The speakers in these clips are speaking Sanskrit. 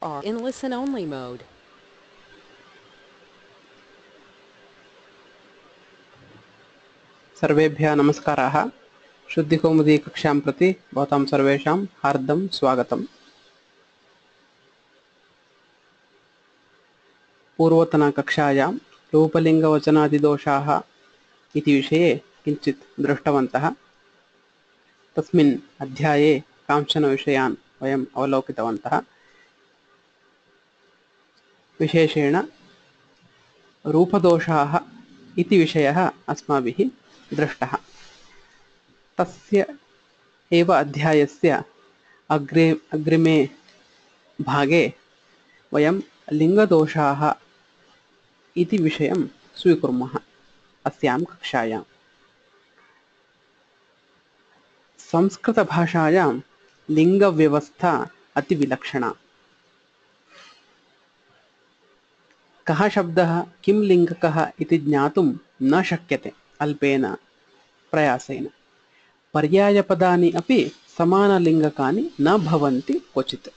are in listen-only mode. सर्वेभ्यः नमस्काराः। शुद्धिकौमुदी कक्षां प्रति भवतां सर्वेषां हार्दं स्वागतम्। पूर्वतनकक्षायां रूपलिङ्गवचनादिदोषाः इति विषये किञ्चित् दृष्टवन्तः। तस्मिन् अध्याये कांश्चन विषयान् वयम् अवलोकितवन्तः। विशेषेण रूपदोषाः इति विषयः अस्माभिः दृष्टः। तस्य एव अध्यायस्य अग्रिमे भागे वयं लिङ्गदोषाः इति विषयं स्वीकुर्मः। अस्यां कक्षायां संस्कृतभाषायां लिङ्गव्यवस्था अतिविलक्षणा। कः शब्दः किं लिङ्गकः इति ज्ञातुं न शक्यते अल्पेन प्रयासेन। पर्यायपदानि अपि समानलिङ्गकानि न भवन्ति क्वचित्।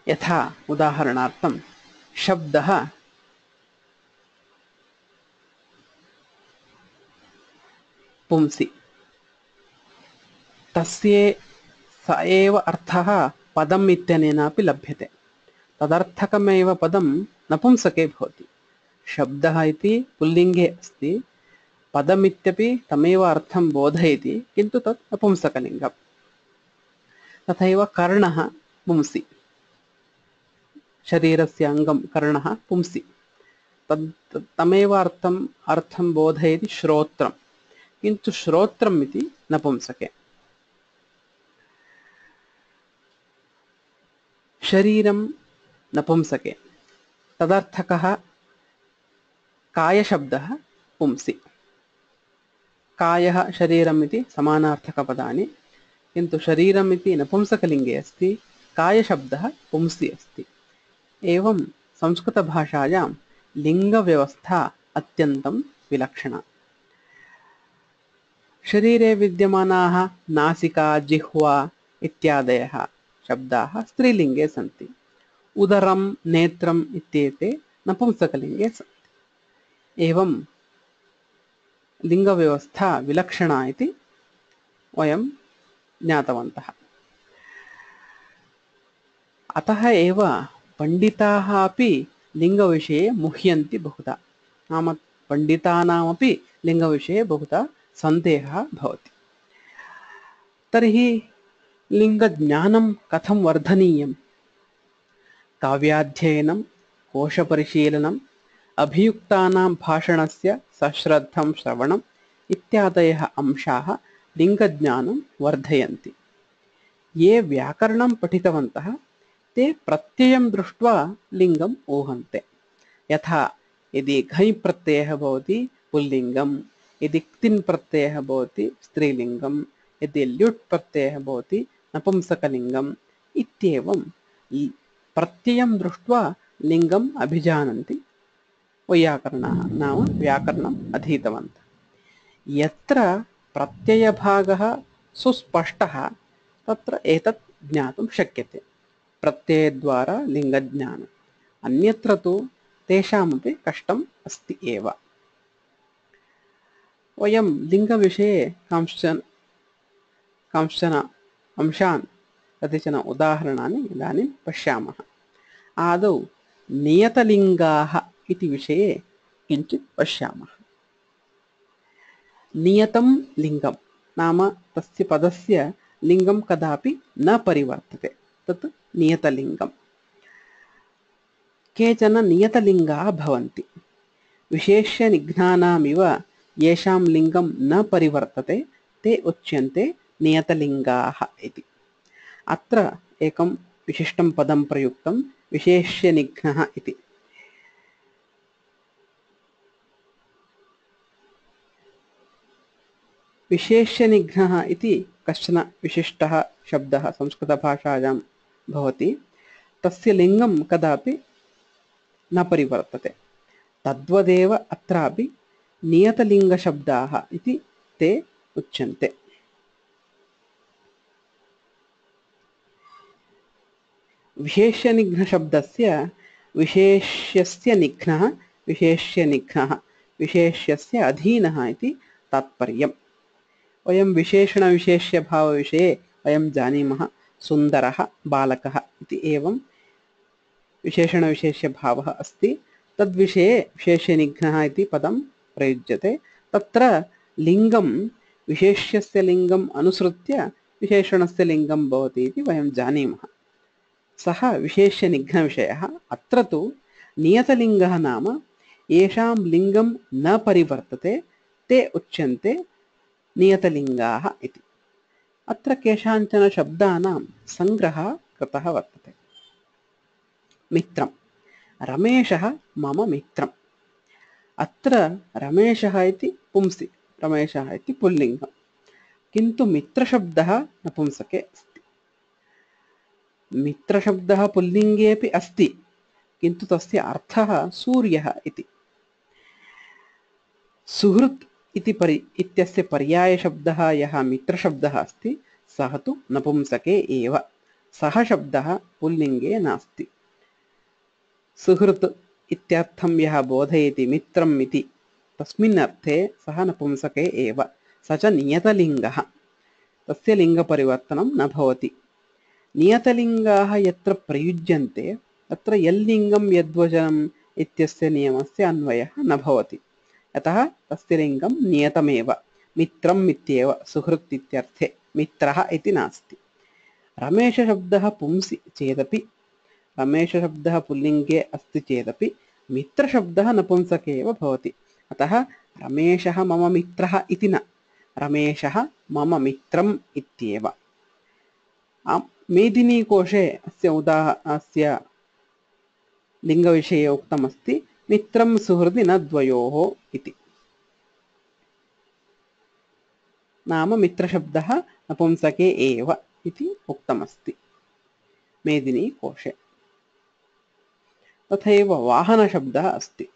यथा उदाहरणार्थं शब्दः पुंसि, तस्य स एव अर्थः पदम् इत्यनेनापि लभ्यते। तदर्थकमेव पदं नपुंसके भवति। शब्दः इति पुल्लिङ्गे अस्ति, पदमित्यपि तमेव अर्थं बोधयति, किन्तु तत् नपुंसकलिङ्गम्। तथैव कर्णः पुंसि, शरीरस्य अङ्गं कर्णः पुंसि, तमेव अर्थं बोधयति श्रोत्रं, किन्तु श्रोत्रम् इति नपुंसके। शरीरं नपुंसके, तदर्थकः कायशब्दः पुंसि। कायः शरीरम् इति समानार्थकपदानि, किन्तु शरीरम् इति नपुंसकलिङ्गे अस्ति, कायशब्दः पुंसि अस्ति। एवं संस्कृतभाषायां लिङ्गव्यवस्था अत्यन्तं विलक्षणा। शरीरे विद्यमानाः नासिका, जिह्वा इत्यादयः शब्दाः स्त्रीलिङ्गे सन्ति। उदरं, नेत्रम् इत्येते नपुंसकलिङ्गे सन्ति। एवं लिङ्गव्यवस्था विलक्षणा इति वयं ज्ञातवन्तः। अतः एव पण्डिताः अपि लिङ्गविषये मुह्यन्ति बहुधा। नाम पण्डितानामपि लिङ्गविषये बहुधा सन्देहः भवति। तर्हि लिङ्गज्ञानं कथं वर्धनीयं? काव्याध्ययनं, कोशपरिशीलनम्, अभियुक्तानां भाषणस्य सश्रद्धं श्रवणम् इत्यादयः अंशाः लिङ्गज्ञानं वर्धयन्ति। ये व्याकरणं पठितवन्तः ते प्रत्ययं दृष्ट्वा लिङ्गम् ऊहन्ते। यथा यदि घञ् प्रत्ययः भवति पुल्लिङ्गं, यदि क्तिन् प्रत्ययः भवति स्त्रीलिङ्गं, यदि ल्युट् प्रत्ययः भवति नपुंसकलिङ्गम् इत्येवं प्रत्ययं दृष्ट्वा लिङ्गम् अभिजानन्ति वैयाकरणाः, नाम व्याकरणम् अधीतवन्तः। यत्र प्रत्ययभागः सुस्पष्टः तत्र एतत् ज्ञातुं शक्यते, प्रत्ययद्वारा लिङ्गज्ञानम्। अन्यत्र तु तेषामपि कष्टम् अस्ति एव। वयं लिङ्गविषये कांश्चन अंशान्, कतिचन उदाहरणानि इदानीं पश्यामः। आदौ नियतलिङ्गाः इति विषये किञ्चित् पश्यामः। नियतं लिङ्गं नाम तस्य पदस्य लिङ्गं कदापि न परिवर्तते, तत् नियतलिङ्गम्। केचन नियतलिङ्गाः भवन्ति, विशेष्यनिघ्नानामिव येषां लिङ्गं न परिवर्तते ते उच्यन्ते नियतलिङ्गाः इति। अत्र एकं विशिष्टं पदं प्रयुक्तं, विशेष्यनिघ्नः इति। विशेष्यनिघ्नः इति कश्चन विशिष्टः शब्दः संस्कृतभाषायां भवति। तस्य लिङ्गं कदापि न परिवर्तते। तद्वदेव अत्रापि नियतलिङ्गशब्दाः इति ते उच्यन्ते। विशेष्यनिघ्नशब्दस्य विशेष्यस्य निघ्नः विशेष्यनिघ्नः विशेष्यस्य अधीनः इति तात्पर्यम्। वयं विशेषणविशेष्यभावविषये वयं जानीमः। सुन्दरः बालकः इति एवं विशेषणविशेष्यभावः अस्ति। तद्विषये विशेष्यनिघ्नः इति पदं प्रयुज्यते। तत्र लिङ्गं विशेष्यस्य लिङ्गम् अनुसृत्य विशेषणस्य लिङ्गं भवति इति वयं जानीमः। सः विशेष्यनिघ्नविषयः। अत्र तु नियतलिङ्गः नाम येषां लिङ्गं न परिवर्तते ते उच्यन्ते नियतलिङ्गाः इति। अत्र केषाञ्चन शब्दानां सङ्ग्रहः कृतः वर्तते। मित्रं, रमेशः मम मित्रम्। अत्र रमेशः इति पुंसि, रमेशः इति पुल्लिङ्गं, किन्तु मित्रशब्दः नपुंसके अस्ति। मित्रशब्दः पुल्लिङ्गेऽपि अस्ति, किन्तु तस्य अर्थः सूर्यः इति। सुहृत् इत्यस्य पर्यायशब्दः यः मित्रशब्दः अस्ति सः तु नपुंसके एव। सः शब्दः पुल्लिङ्गे नास्ति। सुहृत् इत्यर्थं यः बोधयति मित्रम् इति, तस्मिन् अर्थे सः नपुंसके एव। स च नियतलिङ्गः, तस्य लिङ्गपरिवर्तनं न भवति। नियतलिङ्गाः यत्र प्रयुज्यन्ते तत्र यल्लिङ्गं यद्वचनम् इत्यस्य नियमस्य अन्वयः न भवति। अतः तस्य लिङ्गं नियतमेव, मित्रम् इत्येव। सुहृत् इत्यर्थे मित्रः इति नास्ति। रमेशशब्दः पुंसि चेदपि, रमेशशब्दः पुल्लिङ्गे अस्ति चेदपि मित्रशब्दः नपुंसके एव भवति। अतः रमेशः मम मित्रः इति न, रमेशः मम मित्रम् इत्येव। मेदिनीकोशे अस्य लिङ्गविषये उक्तमस्ति, मित्रं सुहृदि न द्वयोः इति। नाम मित्रशब्दः नपुंसके एव इति उक्तमस्ति मेदिनीकोशे। तथैव वाहनशब्दः अस्ति।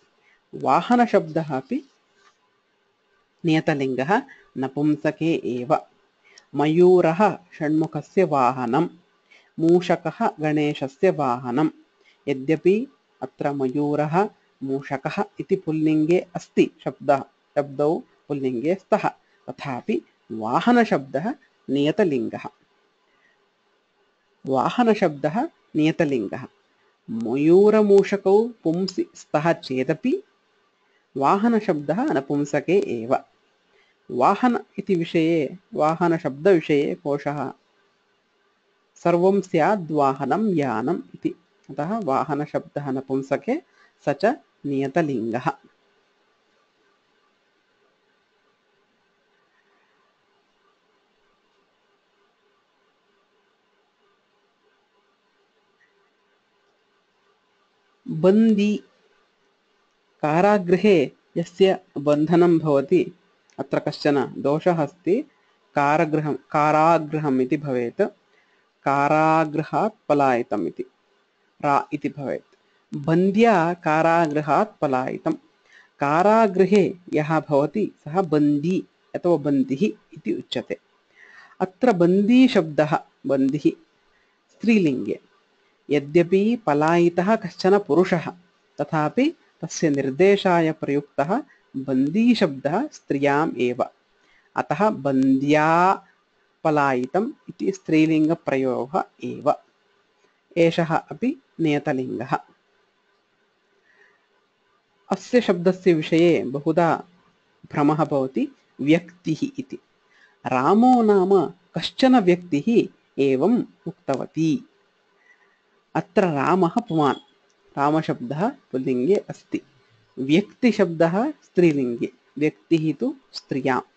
वाहनशब्दः अपि नियतलिङ्गः, नपुंसके एव। मयूरः षण्मुखस्य वाहनं, मूषकः गणेशस्य वाहनं। यद्यपि अत्र मयूरः मूषकः इति पुल्लिङ्गे अस्ति, शब्दौ पुल्लिङ्गे स्तः, तथापि वाहनशब्दः नियतलिङ्गः। वाहनशब्दः नियतलिङ्गः। मयूरमूषकौ पुंसि स्तः चेदपि वाहनशब्दः नपुंसके एव। वाहन इति विषये, वाहनशब्दविषये कोशः सर्वं स्याद् वाहनं यानम् इति। अतः वाहनशब्दः नपुंसके, स च नियतलिङ्गः। बन्दी, कारागृहे यस्य बन्धनं भवति, अत्र कश्चन दोषः अस्ति। कारागृहम् इति भवेत्, कारागृहात् पलायितम् इति, रा इति भवेत्। बन्द्या कारागृहात् पलायितं। कारागृहे यः भवति सः बन्दी अथवा बन्दिः इति उच्यते। अत्र बन्दीशब्दः, बन्दिः स्त्रीलिङ्गे। यद्यपि पलायितः कश्चन पुरुषः, तथापि तस्य निर्देशाय प्रयुक्तः बन्दीशब्दः स्त्रियाम् एव। अतः बन्द्या पलायितम् इति स्त्रीलिङ्गप्रयोगः एव। एषः अपि नियतलिङ्गः। अस्य शब्दस्य विषये बहुधा भ्रमः भवति, व्यक्तिः इति। रामो नाम कश्चन व्यक्तिः एवम् उक्तवती। अत्र रामः पुमान्, रामशब्दः पुल्लिङ्गे अस्ति। व्यक्तिशब्दः स्त्रीलिङ्गे, व्यक्तिः तु स्त्रियाम्।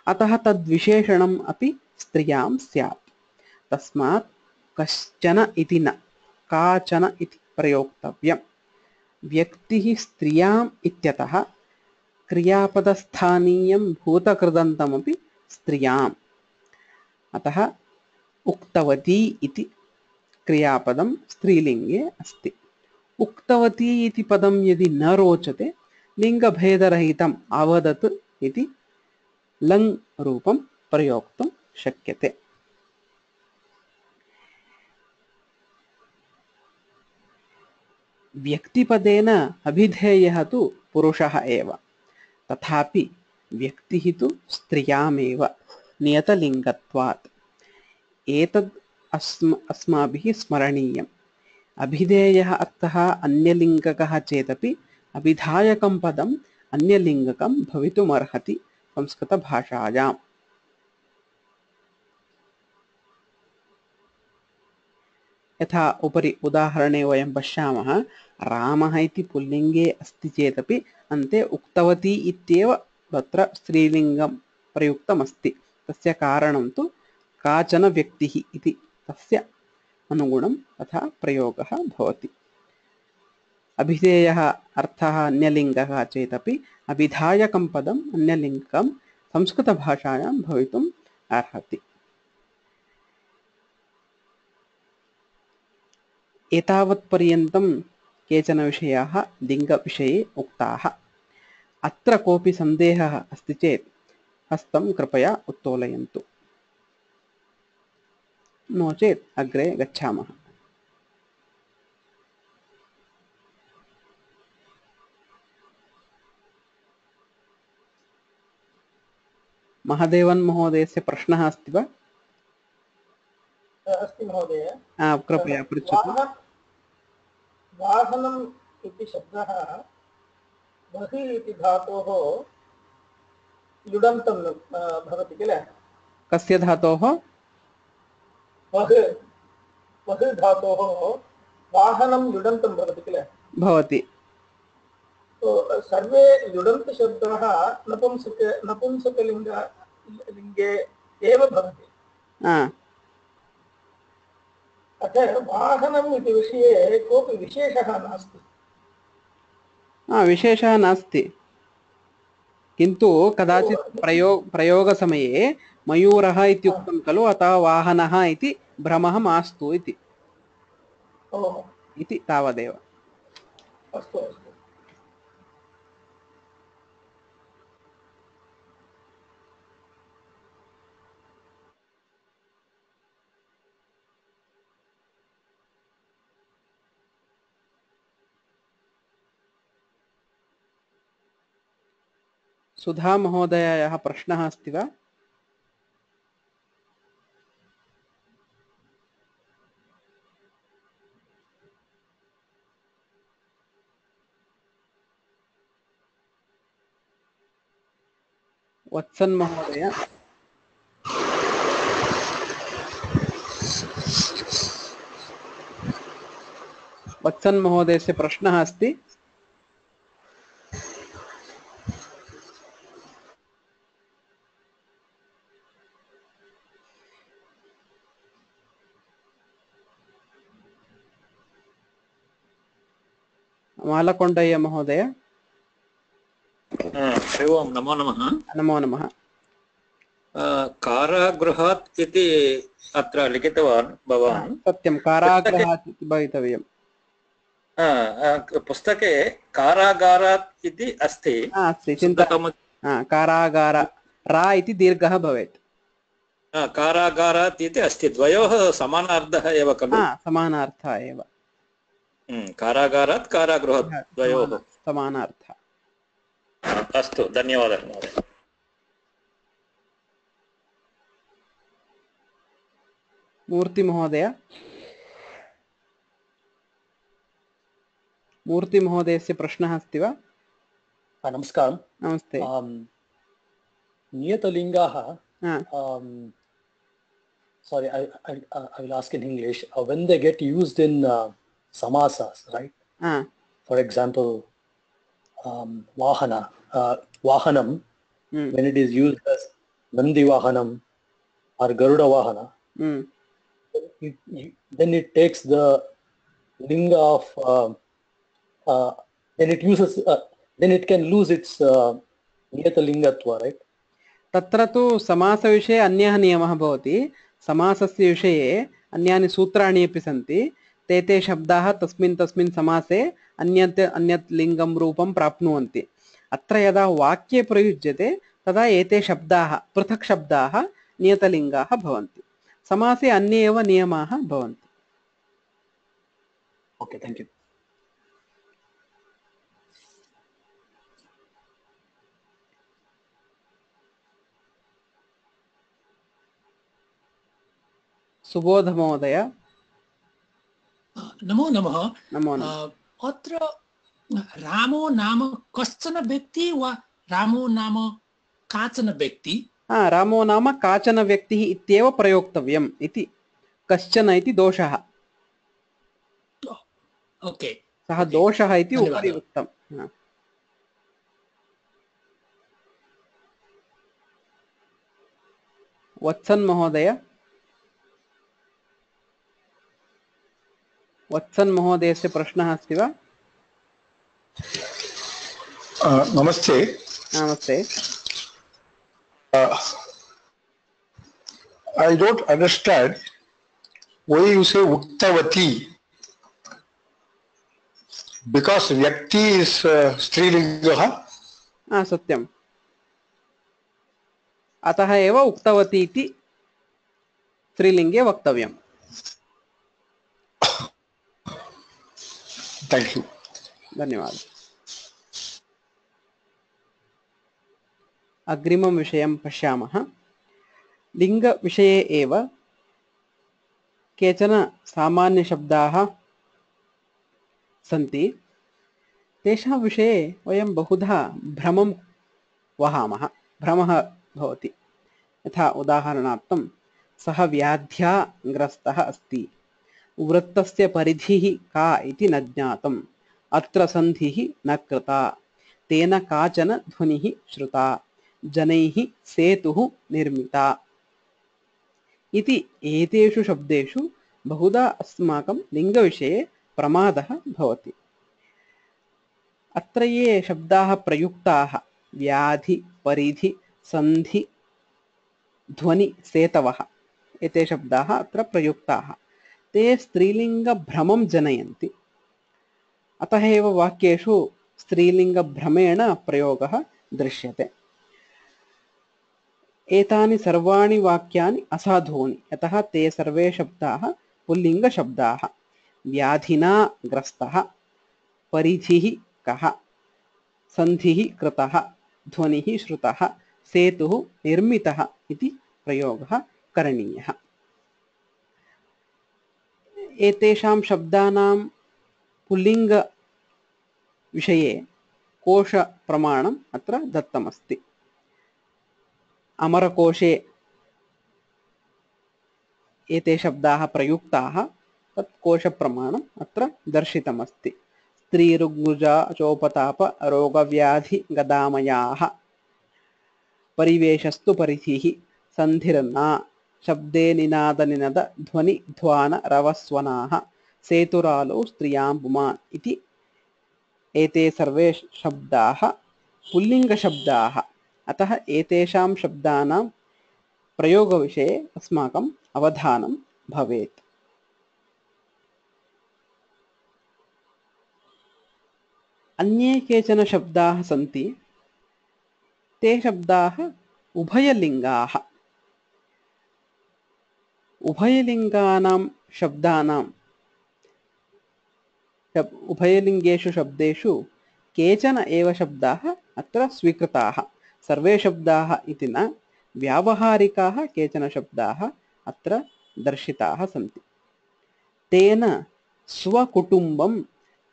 अतः तद्विशेषणम् अपि स्त्रियां स्यात्। तस्मात् कश्चन इति न, काचन इति प्रयोक्तव्यम्। व्यक्तिः स्त्रियाम् इत्यतः क्रियापदस्थानीयं भूतकृदन्तमपि स्त्रियाम्। अतः उक्तवती इति क्रियापदं स्त्रीलिङ्गे अस्ति। उक्तवती इति पदं यदि न रोचते, लिङ्गभेदरहितम् अवदत् इति लङ् रूपं प्रयोक्तुं शक्यते। व्यक्तिपदेन अभिधेयः तु पुरुषः एव, तथापि व्यक्तिः तु स्त्रियामेव नियतलिङ्गत्वात्। एतद् अस्माभिः स्मरणीयम्। अभिधेयः अर्थः अन्यलिङ्गकः चेदपि अभिधायकं पदम् अन्यलिङ्गकं भवितुमर्हति संस्कृतभाषायाम्। यथा उपरि उदाहरणे वयं पश्यामः, रामः इति पुल्लिङ्गे अस्ति चेदपि अन्ते उक्तवती इत्येव तत्र स्त्रीलिङ्गं प्रयुक्तमस्ति। तस्य कारणं तु काचन व्यक्तिः इति तस्य अनुगुणं तथा प्रयोगः भवति। अभिधेयः अर्थः अन्यलिङ्गः चेदपि अभिधायकं पदम् अन्यलिङ्गकं संस्कृतभाषायां भवितुम् अर्हति। एतावत्पर्यन्तं केचन विषयाः लिङ्गविषये उक्ताः। अत्र कोऽपि सन्देहः अस्ति चेत् हस्तं कृपया उत्तोलयन्तु, नो चेत् अग्रे गच्छामः। महादेवन महोदयस्य प्रश्नः अस्ति वा? अस्ति महोदय। कृपया पृच्छतु। वाहनम् इति शब्दः बहिः इति धातोः युडन्तं भवति किल? कस्य धातोः? बहिः धातोः वाहनं युडन्तं भवति किल? भवति। तो सर्वे युडन्तशब्दाः नपुंसकलिङ्गे एव भवति। अतः वाहनम् इति विषये कोऽपि विशेषः नास्ति। विशेषः नास्ति, किन्तु कदाचित् प्रयोगसमये मयूरः इत्युक्तं खलु, अतः वाहनः इति भ्रमः मास्तु इति तावदेव। अस्तु अस्तु। सुधा महोदयायाः प्रश्नः अस्ति वा? वत्सन् महोदय, वत्सन् महोदयस्य प्रश्नः अस्ति। मालकोण्डय्य महोदय। ओम नमो नमः। नमो नमः। कारागृहात् इति अत्र लिखितवान् भवान्। सत्यं, कारागृहात् इति भवितव्यम्। पुस्तके कारागारात् इति अस्ति। अस्ति, चिन्ता। कारागार रा इति दीर्घः भवेत्। कारागारात् इति अस्ति, द्वयोः समानार्थः एव खलु? समानार्थः एव। कारागारात् कारागृहात् द्वयोः समानार्थः। अस्तु, धन्यवादः महोदय। मूर्ति महोदय। मूर्ति महोदयस्य प्रश्नः अस्ति वा? नमस्कारं। नमस्ते। नियतलिङ्गाः, sorry, I will ask in English. When they get used in samasas, right? For example, vahana, vahanam, when it is used as Nandi Vahanam or Garuda Vahana, then it takes the linga of, then it uses, then it can lose its niyatalingatva, right? तत्र तु समासविषये अन्यः नियमः भवति। समासस्य विषये अन्यानि सूत्राणि अपि सन्ति। ते शब्दाः तस्मिन् समासे अन्यत् लिङ्गं रूपं प्राप्नुवन्ति। अत्र यदा वाक्ये प्रयुज्यते तदा एते शब्दाः, पृथक् शब्दाः नियतलिङ्गाः भवन्ति। समासे अन्ये एव नियमाः भवन्ति। Okay, thank you. सुबोध महोदय नमो नमः। नमो नमः। अत्र रामो नाम कश्चन व्यक्ति वा रामो नाम काचन व्यक्ति? रामो नाम काचन व्यक्तिः इत्येव प्रयोक्तव्यम् इति। कश्चन इति दोषः। ओके, सः दोषः इति उपरि धन्यवादः। उक्तम्। वत्सन् महोदय, वत्सन् महोदयस्य प्रश्नः अस्ति वा? नमस्ते। नमस्ते। I don't understand why you say uktavati, because vyakti is strilinga. सत्यम्। अतः एव उक्तवती इति स्त्रीलिङ्गे वक्तव्यम्। Thank you. धन्यवादः। अग्रिमं विषयं पश्यामः। लिङ्गविषये एव केचन सामान्यशब्दाः सन्ति। तेषां विषये वयं बहुधा भ्रमं वहामः, भ्रमः भवति। यथा उदाहरणार्थं सः व्याध्या ग्रस्तः अस्ति, वृत्तस्य परिधिः का इति न ज्ञातम्, अत्र सन्धिः न कृता, तेन काचन ध्वनिः श्रुता, जनैः सेतुः निर्मिता इति एतेषु शब्देषु बहुधा अस्माकं लिङ्गविषये प्रमादः भवति। अत्र ये शब्दाः प्रयुक्ताः व्याधि, परिधि, सन्धि, ध्वनि, सेतवः, एते शब्दाः अत्र प्रयुक्ताः। ते स्त्रीलिङ्गभ्रमं जनयन्ति। अतः एव वाक्येषु स्त्रीलिङ्गभ्रमेण प्रयोगः दृश्यते। एतानि सर्वाणि वाक्यानि असाधूनि, यतः ते सर्वे शब्दाः पुल्लिङ्गशब्दाः। व्याधिना ग्रस्तः, परिधिः कः, सन्धिः कृतः, ध्वनिः श्रुतः, सेतुः निर्मितः इति प्रयोगः करणीयः। एतेषां शब्दानां पुल्लिङ्ग विषये कोशप्रमाणम् अत्र दत्तमस्ति। अमरकोशे एते शब्दाः प्रयुक्ताः, तत् कोशप्रमाणम् अत्र दर्शितमस्ति। स्त्रीरुग्मुजा चोपताप रोगव्याधि गदामयाः, परिवेशस्तु परिधिः, सन्धिर्ना, शब्दे निनाद निनद ध्वनि ध्वान रवस्वनाः, सेतुरालौ स्त्रियां पुमान् इति एते सर्वे शब्दाः पुल्लिङ्गशब्दाः। अतः एतेषां शब्दानां प्रयोगविषये अस्माकम् अवधानं भवेत्। अन्ये केचन शब्दाः सन्ति। ते शब्दाः उभयलिङ्गाः। उभयलिङ्गानां शब्दानां उभयलिङ्गेषु शब्देषु केचन एव शब्दाः अत्र स्वीकृताः। सर्वे शब्दाः इति न, व्यावहारिकाः केचन शब्दाः अत्र दर्शिताः सन्ति। तेन स्वकुटुम्बं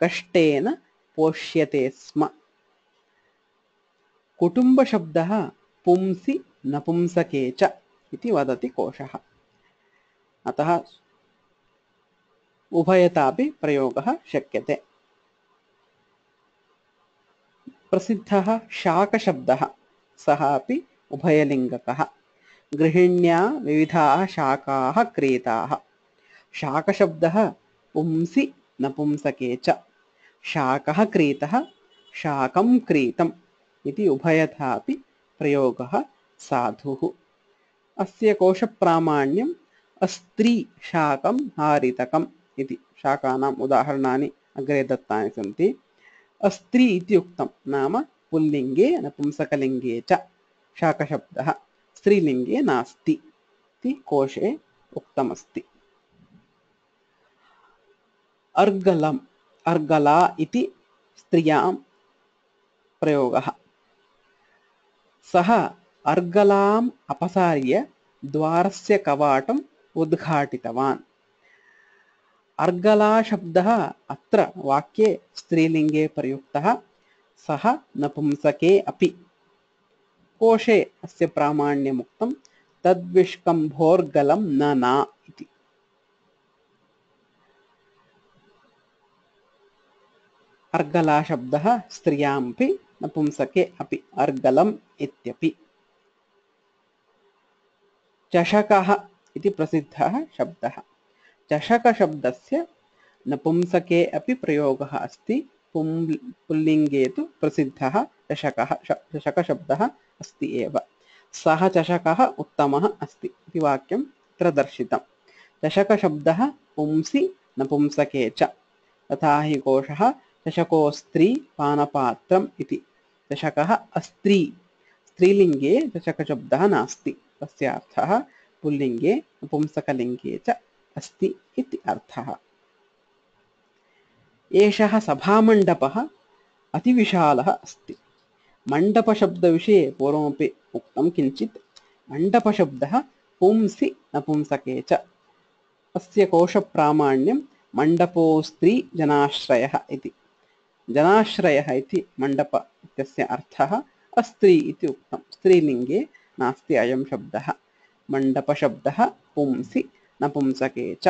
कष्टेन पोष्यते स्म। कुटुम्बशब्दः पुंसि नपुंसके च इति वदति कोशः। अतः उभयतापि प्रयोगः शक्यते। प्रसिद्धः शाकशब्दः, सः अपि उभयलिङ्गकः। गृहिण्या विविधाः शाकाः क्रीताः। शाकशब्दः पुंसि नपुंसके च। शाकः क्रीतः, शाकं क्रीतम् इति उभयथापि प्रयोगः साधुः। अस्य कोशप्रामाण्यम् अस्त्री शाकं हारितकम् इति। शाकानाम् उदाहरणानि अग्रे दत्तानि सन्ति। अस्त्री इति उक्तं, नाम पुल्लिङ्गे नपुंसकलिङ्गे च शाकशब्दः, स्त्रीलिङ्गे नास्ति इति कोशे उक्तमस्ति। अर्गलम्, अर्गला इति स्त्रियां प्रयोगः। सः अर्गलाम् अपसार्य द्वारस्य कवाटं उद्घाटितवान्। अर्गला शब्दः अत्र वाक्ये स्त्रीलिङ्गे प्रयुक्तः, सः नपुंसके अपि। कोशे अस्य प्रामाण्यमुक्तं, तद्विष्कम्भोर्गलं न इति। अर्गला शब्दः स्त्रियामपि नपुंसके अपि, अर्गलम् इत्यपि। चषकः इति प्रसिद्धः शब्दः। चषकशब्दस्य नपुंसके अपि प्रयोगः अस्ति, पुल्लिङ्गे तु प्रसिद्धः चषकशब्दः अस्ति एव। सः चषकः उत्तमः अस्ति इति वाक्यं तत्र दर्शितम्। चषकशब्दः पुंसि नपुंसके च, तथा हि कोशः चषकोस्त्री पानपात्रम् इति। चषकः अस्त्री, स्त्रीलिङ्गे चषकशब्दः नास्ति, तस्य अर्थः पुल्लिङ्गे नपुंसकलिङ्गे च अस्ति इति अर्थः। एषः सभामण्डपः अतिविशालः अस्ति। मण्डपशब्दविषये पूर्वमपि उक्तं किञ्चित्। मण्डपशब्दः पुंसि नपुंसके च, अस्य कोशप्रामाण्यं मण्डपोस्त्री जनाश्रयः इति। जनाश्रयः इति मण्डप इत्यस्य अर्थः अस्त्री इति उक्तं, स्त्रीलिङ्गे नास्ति अयं शब्दः। मण्डपशब्दः पुंसि नपुंसके च।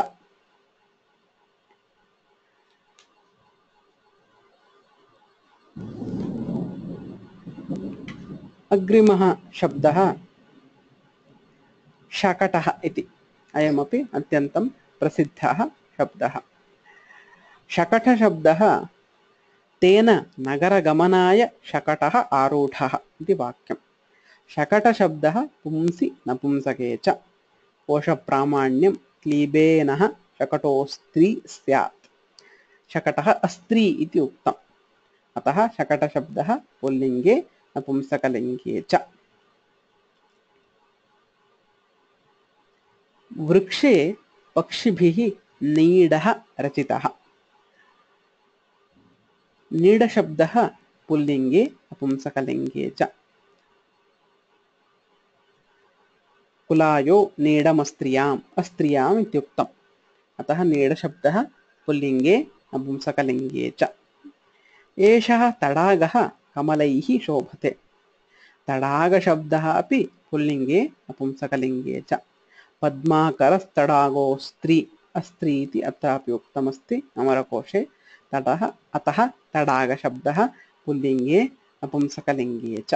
अग्रिमः शब्दः शकटः इति। अयमपि अत्यन्तं प्रसिद्धः शब्दः। शकटशब्दः तेन नगरगमनाय शकटः आरूढः इति वाक्यं। शकटशब्दः पुंसि नपुंसके च। कोशप्रामाण्यं क्लीबेनः शकटोस्त्री स्यात्। शकटः अस्त्री इति उक्तम्, अतः शकटशब्दः पुल्लिङ्गे नपुंसकलिङ्गे च। वृक्षे पक्षिभिः नीडः रचितः। नीडशब्दः पुल्लिङ्गे नपुंसकलिङ्गे च। कुलायो नीडमस्त्रियाम्, अस्त्रियाम् इत्युक्तम्, अतः नीडशब्दः पुल्लिङ्गे नपुंसकलिङ्गे च। एषः तडागः कमलैः शोभते। तडागशब्दः अपि पुल्लिङ्गे नपुंसकलिङ्गे च। पद्माकरस्तडागोस्त्री, अस्त्री इति अत्रापि उक्तमस्ति अमरकोशे। तडः, अतः तडागशब्दः पुल्लिङ्गे नपुंसकलिङ्गे च।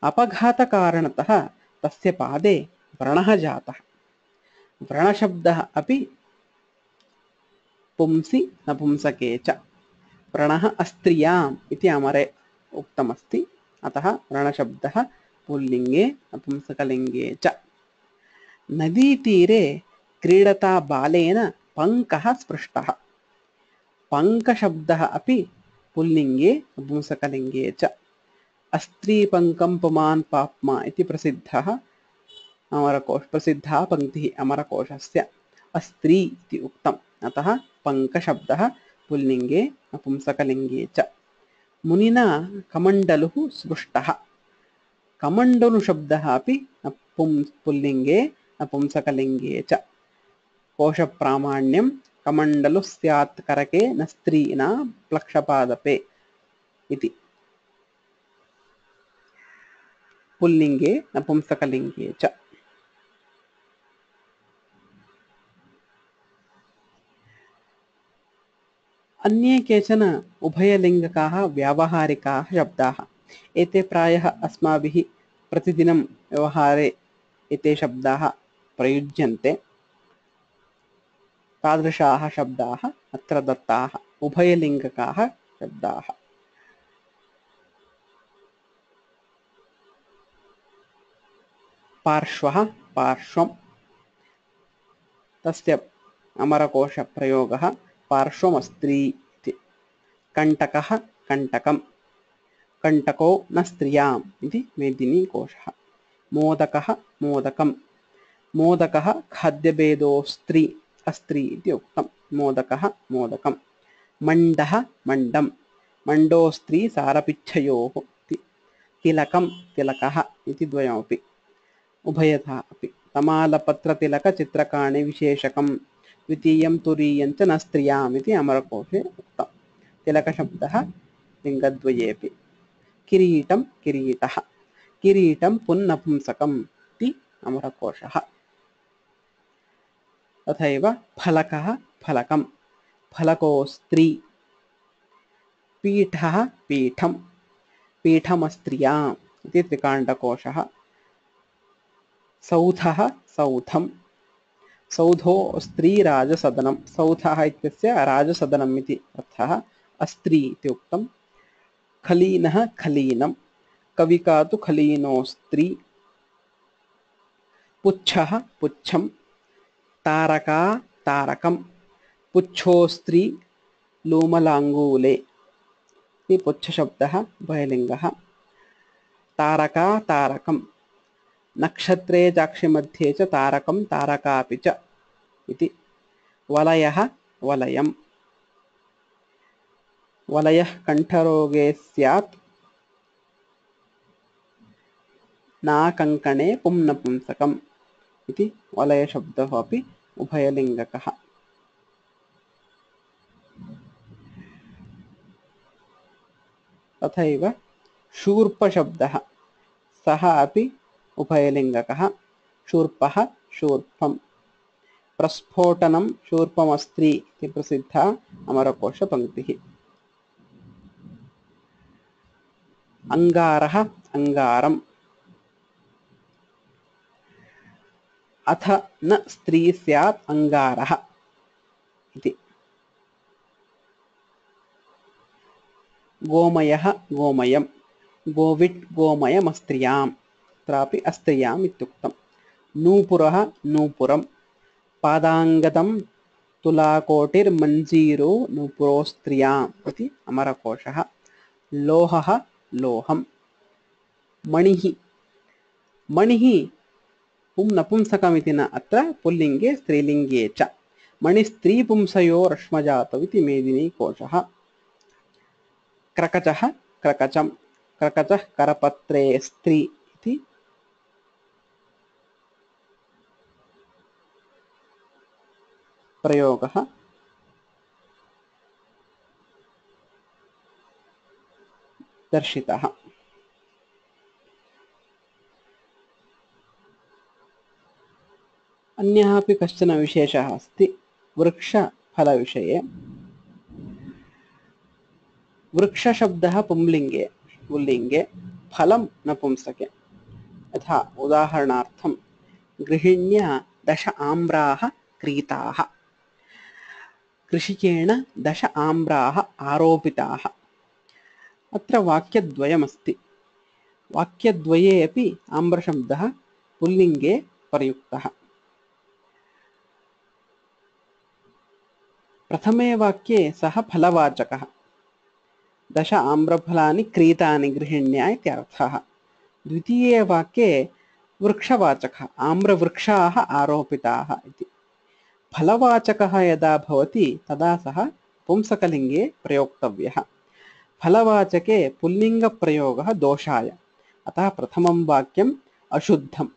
अपघातकारणतः तस्य पादे व्रणः जातः। व्रणशब्दः अपि पुंसि नपुंसके च। व्रणः अस्त्रियाम् इति अमरे उक्तमस्ति, अतः व्रणशब्दः पुल्लिङ्गे नपुंसकलिङ्गे च। नदीतीरे क्रीडता बालेन पङ्कः स्पृष्टः। पङ्कशब्दः अपि पुल्लिङ्गे नपुंसकलिङ्गे च। अस्त्रीपङ्कं पुमान् पाप्मा इति प्रसिद्धा पङ्क्तिः अमरकोशस्य। अस्त्री इति उक्तम्, अतः पङ्कशब्दः पुल्लिङ्गे नपुंसकलिङ्गे च। मुनिना कमण्डलुः स्पृष्टः। कमण्डलुशब्दः अपि पुल्लिङ्गे नपुंसकलिङ्गे च। कोशप्रामाण्यं कमण्डलुः स्यात् करके न स्त्रीणा प्लक्षपादपे इति। पुल्लिङ्गे नपुंसकलिङ्गे च। अन्ये केचन उभयलिङ्गकाः व्यावहारिकाः शब्दाः। एते प्रायः अस्माभिः प्रतिदिनं व्यवहारे एते शब्दाः प्रयुज्यन्ते। तादृशाः शब्दाः अत्र दत्ताः, उभयलिङ्गकाः शब्दाः। पार्श्वः, पार्श्वं, तस्य अमरकोशप्रयोगः पार्श्वमस्त्री इति। कण्टकः, कण्टकं, कण्टको न स्त्रियाम् इति मेदिनीकोशः। मोदकः, मोदकं, मोदकः खाद्यभेदोस्त्री, अस्त्री इति उक्तं, मोदकः मोदकं। मण्डः, मण्डं, मण्डोस्त्री सारपिच्छयोः इति। तिलकं, तिलकः इति द्वयमपि, उभयथा अपि। तमालपत्रतिलकचित्रकाणि विशेषकं द्वितीयं तुरीयं च न स्त्रियाम् इति अमरकोशे उक्तम्। तिलकशब्दः लिङ्गद्वयेऽपि। किरीटं किरीटः, किरीटं पुन्नपुंसकम् इति अमरकोशः। तथैव फलकः फलकं, फलको स्त्री। पीठः पीठं, पीठमस्त्रियाम् इति त्रिकाण्डकोशः। सौधः सौधं, सौधो स्त्रीराजसदनं, सौधः इत्यस्य राजसदनम् इति अर्थः, अस्त्री इति उक्तम्। खलीनः खलीनं, कविका तु खलीनो स्त्री। पुच्छः पुच्छं, तारका तारकं, पुच्छोस्त्री लूमलाङ्गूले इति पुच्छशब्दः उभयलिङ्गः। तारका तारकं, नक्षत्रे चाक्षिमध्ये च तारकं तारकापि च इति। वलयः वलयं, वलयः कण्ठरोगे स्यात् नाकङ्कणे पुंनपुंसकम् इति वलयशब्दः अपि उभयलिङ्गकः। तथैव शूर्पशब्दः, सः अपि उभयलिङ्गकः। शूर्पः शूर्पं, प्रस्फोटनं शूर्पमस्त्री इति प्रसिद्धा अमरकोशपङ्क्तिः। अङ्गारः अङ्गारम्, अथ न स्त्री स्यात् अङ्गारः इति। गोमयः गोमयं, गोविट् गोमयमस्त्रियाम्, अत्रापि अस्त्रियाम् इत्युक्तम्। नूपुरः नूपुरं, पादाङ्गदं तुलाकोटिर्मञ्जीरो नूपुरोस्त्रियाम् इति अमरकोशः। लोहः लोहं। मणिः, मणिः पुंनपुंसकमिति न अत्र पुल्लिङ्गे स्त्रीलिङ्गे च। मणिस्त्रीपुंसयोरश्मजातौ इति मेदिनीकोशः। क्रकचः क्रकचं, क्रकचः करपत्रे स्त्री इति। प्रयोगः दर्शितः। अन्यः अपि कश्चन विशेषः अस्ति वृक्षफलविषये। वृक्षशब्दः पुंलिङ्गे पुल्लिङ्गे, फलं नपुंसके। यथा उदाहरणार्थं गृहिण्या 10 आम्राः क्रीताः, कृषिकेण 10 आम्राः आरोपिताः। अत्र वाक्यद्वयमस्ति। वाक्यद्वये अपि आम्रशब्दः पुल्लिङ्गे प्रयुक्तः। प्रथमे वाक्ये सः फलवाचकः, 10 आम्रफलानि क्रीतानि गृहिण्या इत्यर्थः। द्वितीये वाक्ये वृक्षवाचकः, आम्रवृक्षाः आरोपिताः इति। फलवाचकः यदा भवति तदा सः पुंसकलिङ्गे प्रयोक्तव्यः। फलवाचके पुल्लिङ्गप्रयोगः दोषाय, अतः प्रथमं वाक्यम् अशुद्धम्।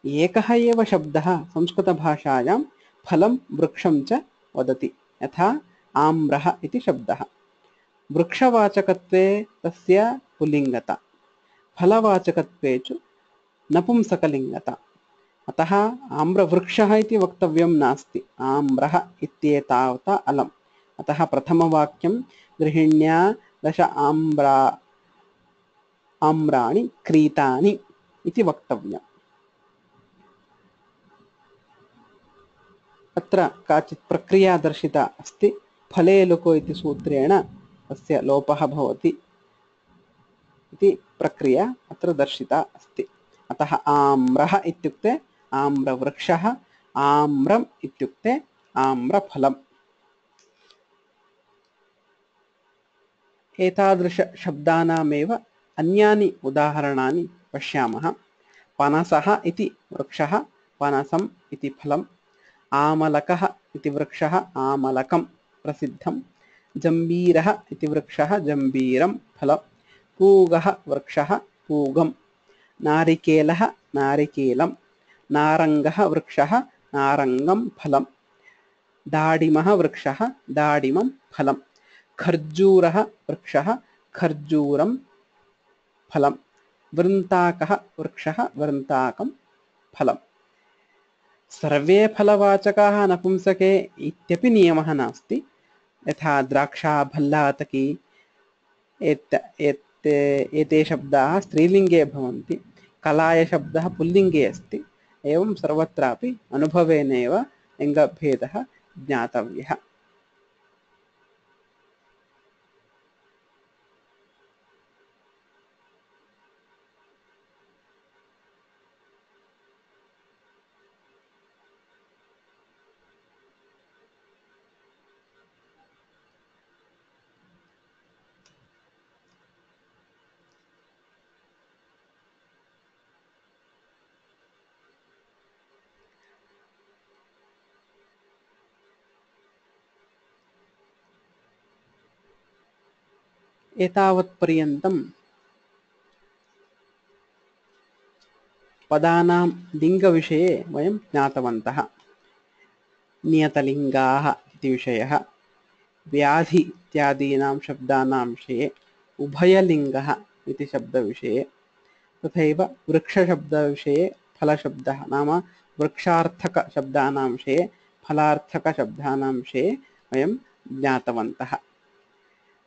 एकः एव शब्दः संस्कृतभाषायां फलं वृक्षं च वदति, यथा आम्रः इति शब्दः। वृक्षवाचकत्वे तस्य पुल्लिङ्गता, फलवाचकत्वे च नपुंसकलिङ्गता। अतः आम्रवृक्षः इति वक्तव्यं नास्ति, आम्रः इत्येतावता अलम्। अतः प्रथमवाक्यं गृहिण्या 10 आम्राणि क्रीतानि इति वक्तव्यम्। अत्र काचित् प्रक्रिया दर्शिता अस्ति। फले लुको इति सूत्रेण तस्य लोपः भवति इति प्रक्रिया अत्र दर्शिता अस्ति। अतः आम्रः इत्युक्ते आम्रवृक्षः, आम्रम् इत्युक्ते आम्रफलम्। एतादृशशब्दानामेव अन्यानि उदाहरणानि पश्यामः। पनसः इति वृक्षः, पनसम् इति फलम्। आमलकः इति वृक्षः, आमलकं प्रसिद्धम्। जम्बीरः इति वृक्षः, जम्बीरं फलम्। पूगः वृक्षः, पूगम्। नारिकेलः नारिकेलं, नारङ्गः वृक्षः नारङ्गं फलं, दाडिमः वृक्षः दाडिमं फलं, खर्जूरः वृक्षः खर्जूरं फलं, वृन्ताकः वृक्षः वृन्ताकं फलं। सर्वे फलवाचकाः नपुंसके इत्यपि नियमः नास्ति। यथा द्राक्षा भल्लातकी एते शब्दाः स्त्रीलिङ्गे भवन्ति, कलाय शब्दः पुल्लिङ्गे अस्ति। एवं सर्वत्रापि अनुभवेनैव लिङ्गभेदः ज्ञातव्यः। एतावत्पर्यन्तं पदानां लिङ्गविषये वयं ज्ञातवन्तः। नियतलिङ्गाः इति विषयः, व्याधि इत्यादीनां शब्दानां विषये, उभयलिङ्गः इति शब्दविषये, तथैव वृक्षशब्दविषये फलशब्दः नाम वृक्षार्थकशब्दानां विषये फलार्थकशब्दानां विषये वयं ज्ञातवन्तः।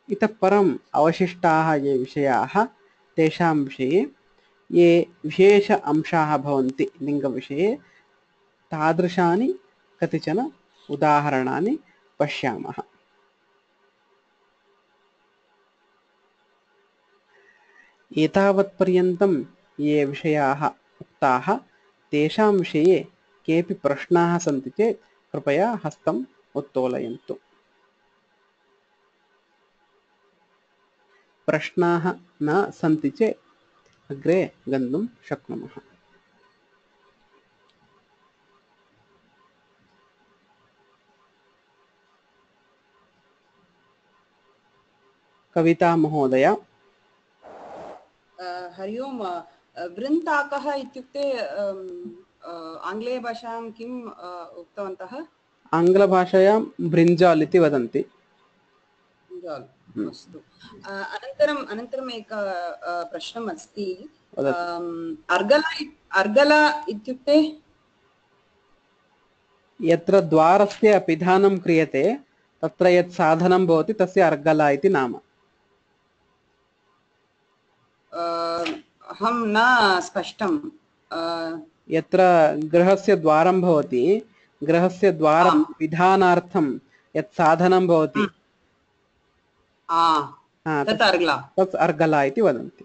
इतः परम् अवशिष्टाः ये विषयाः तेषां विषये ये विशेष अंशाः भवन्ति लिङ्गविषये तादृशानि कतिचन उदाहरणानि पश्यामः। एतावत्पर्यन्तं ये विषयाः उक्ताः तेषां विषये केऽपि प्रश्नाः सन्ति चेत् कृपया हस्तम् उत्तोलयन्तु। प्रश्नाः न सन्ति चेत् अग्रे गन्तुं शक्नुमः। कविता महोदय। हरि ओम्। वृन्ताकः इत्युक्ते आङ्ग्लेयभाषायां किम् उक्तवन्तः? आङ्ग्लभाषायां ब्रिञ्जाल् इति वदन्ति। अस्तु। अनन्तरम् एक प्रश्नम् अस्ति। अर्गला इत्युक्ते यत्र द्वारस्य पिधानं क्रियते तत्र यत् साधनं भवति तस्य अर्गला इति नाम। अहं न स्पष्टं। यत्र गृहस्य द्वारं भवति, गृहस्य द्वारं पिधानार्थं यत् साधनं भवति तत् अर्गला इति वदन्ति।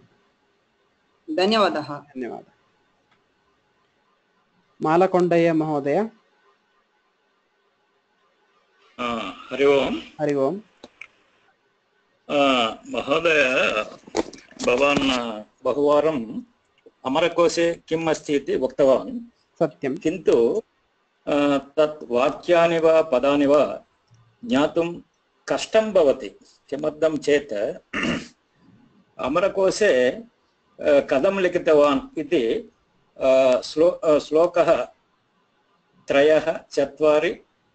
धन्यवादः। धन्यवादः। मालकोण्डय्य महोदय। हरि ओम्। हरि ओम्। महोदय, भवान् बहुवारम् अमरकोशे किम् अस्ति इति उक्तवान्। सत्यं। किन्तु तत् वाक्यानि वा पदानि वा ज्ञातुं कष्टं भवति। किमर्थं चेत् अमरकोशे कथं लिखितवान् इति श्लोकः 3, 4,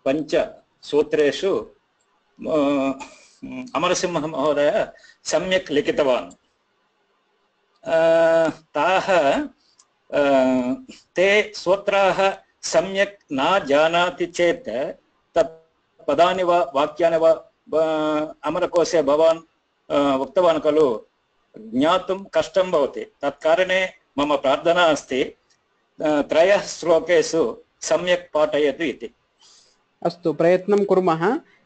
5 सूत्रेषु अमरसिंह महोदय सम्यक् लिखितवान्। ते सूत्राः सम्यक् न जानाति चेत् तत् पदानि वा वाक्यानि वा अमरकोशे भवान् उक्तवान् खलु, ज्ञातुं कष्टं भवति। तत्कारणे मम प्रार्थना अस्ति 3 श्लोकेषु सम्यक् पाठयतु इति। अस्तु, प्रयत्नं कुर्मः।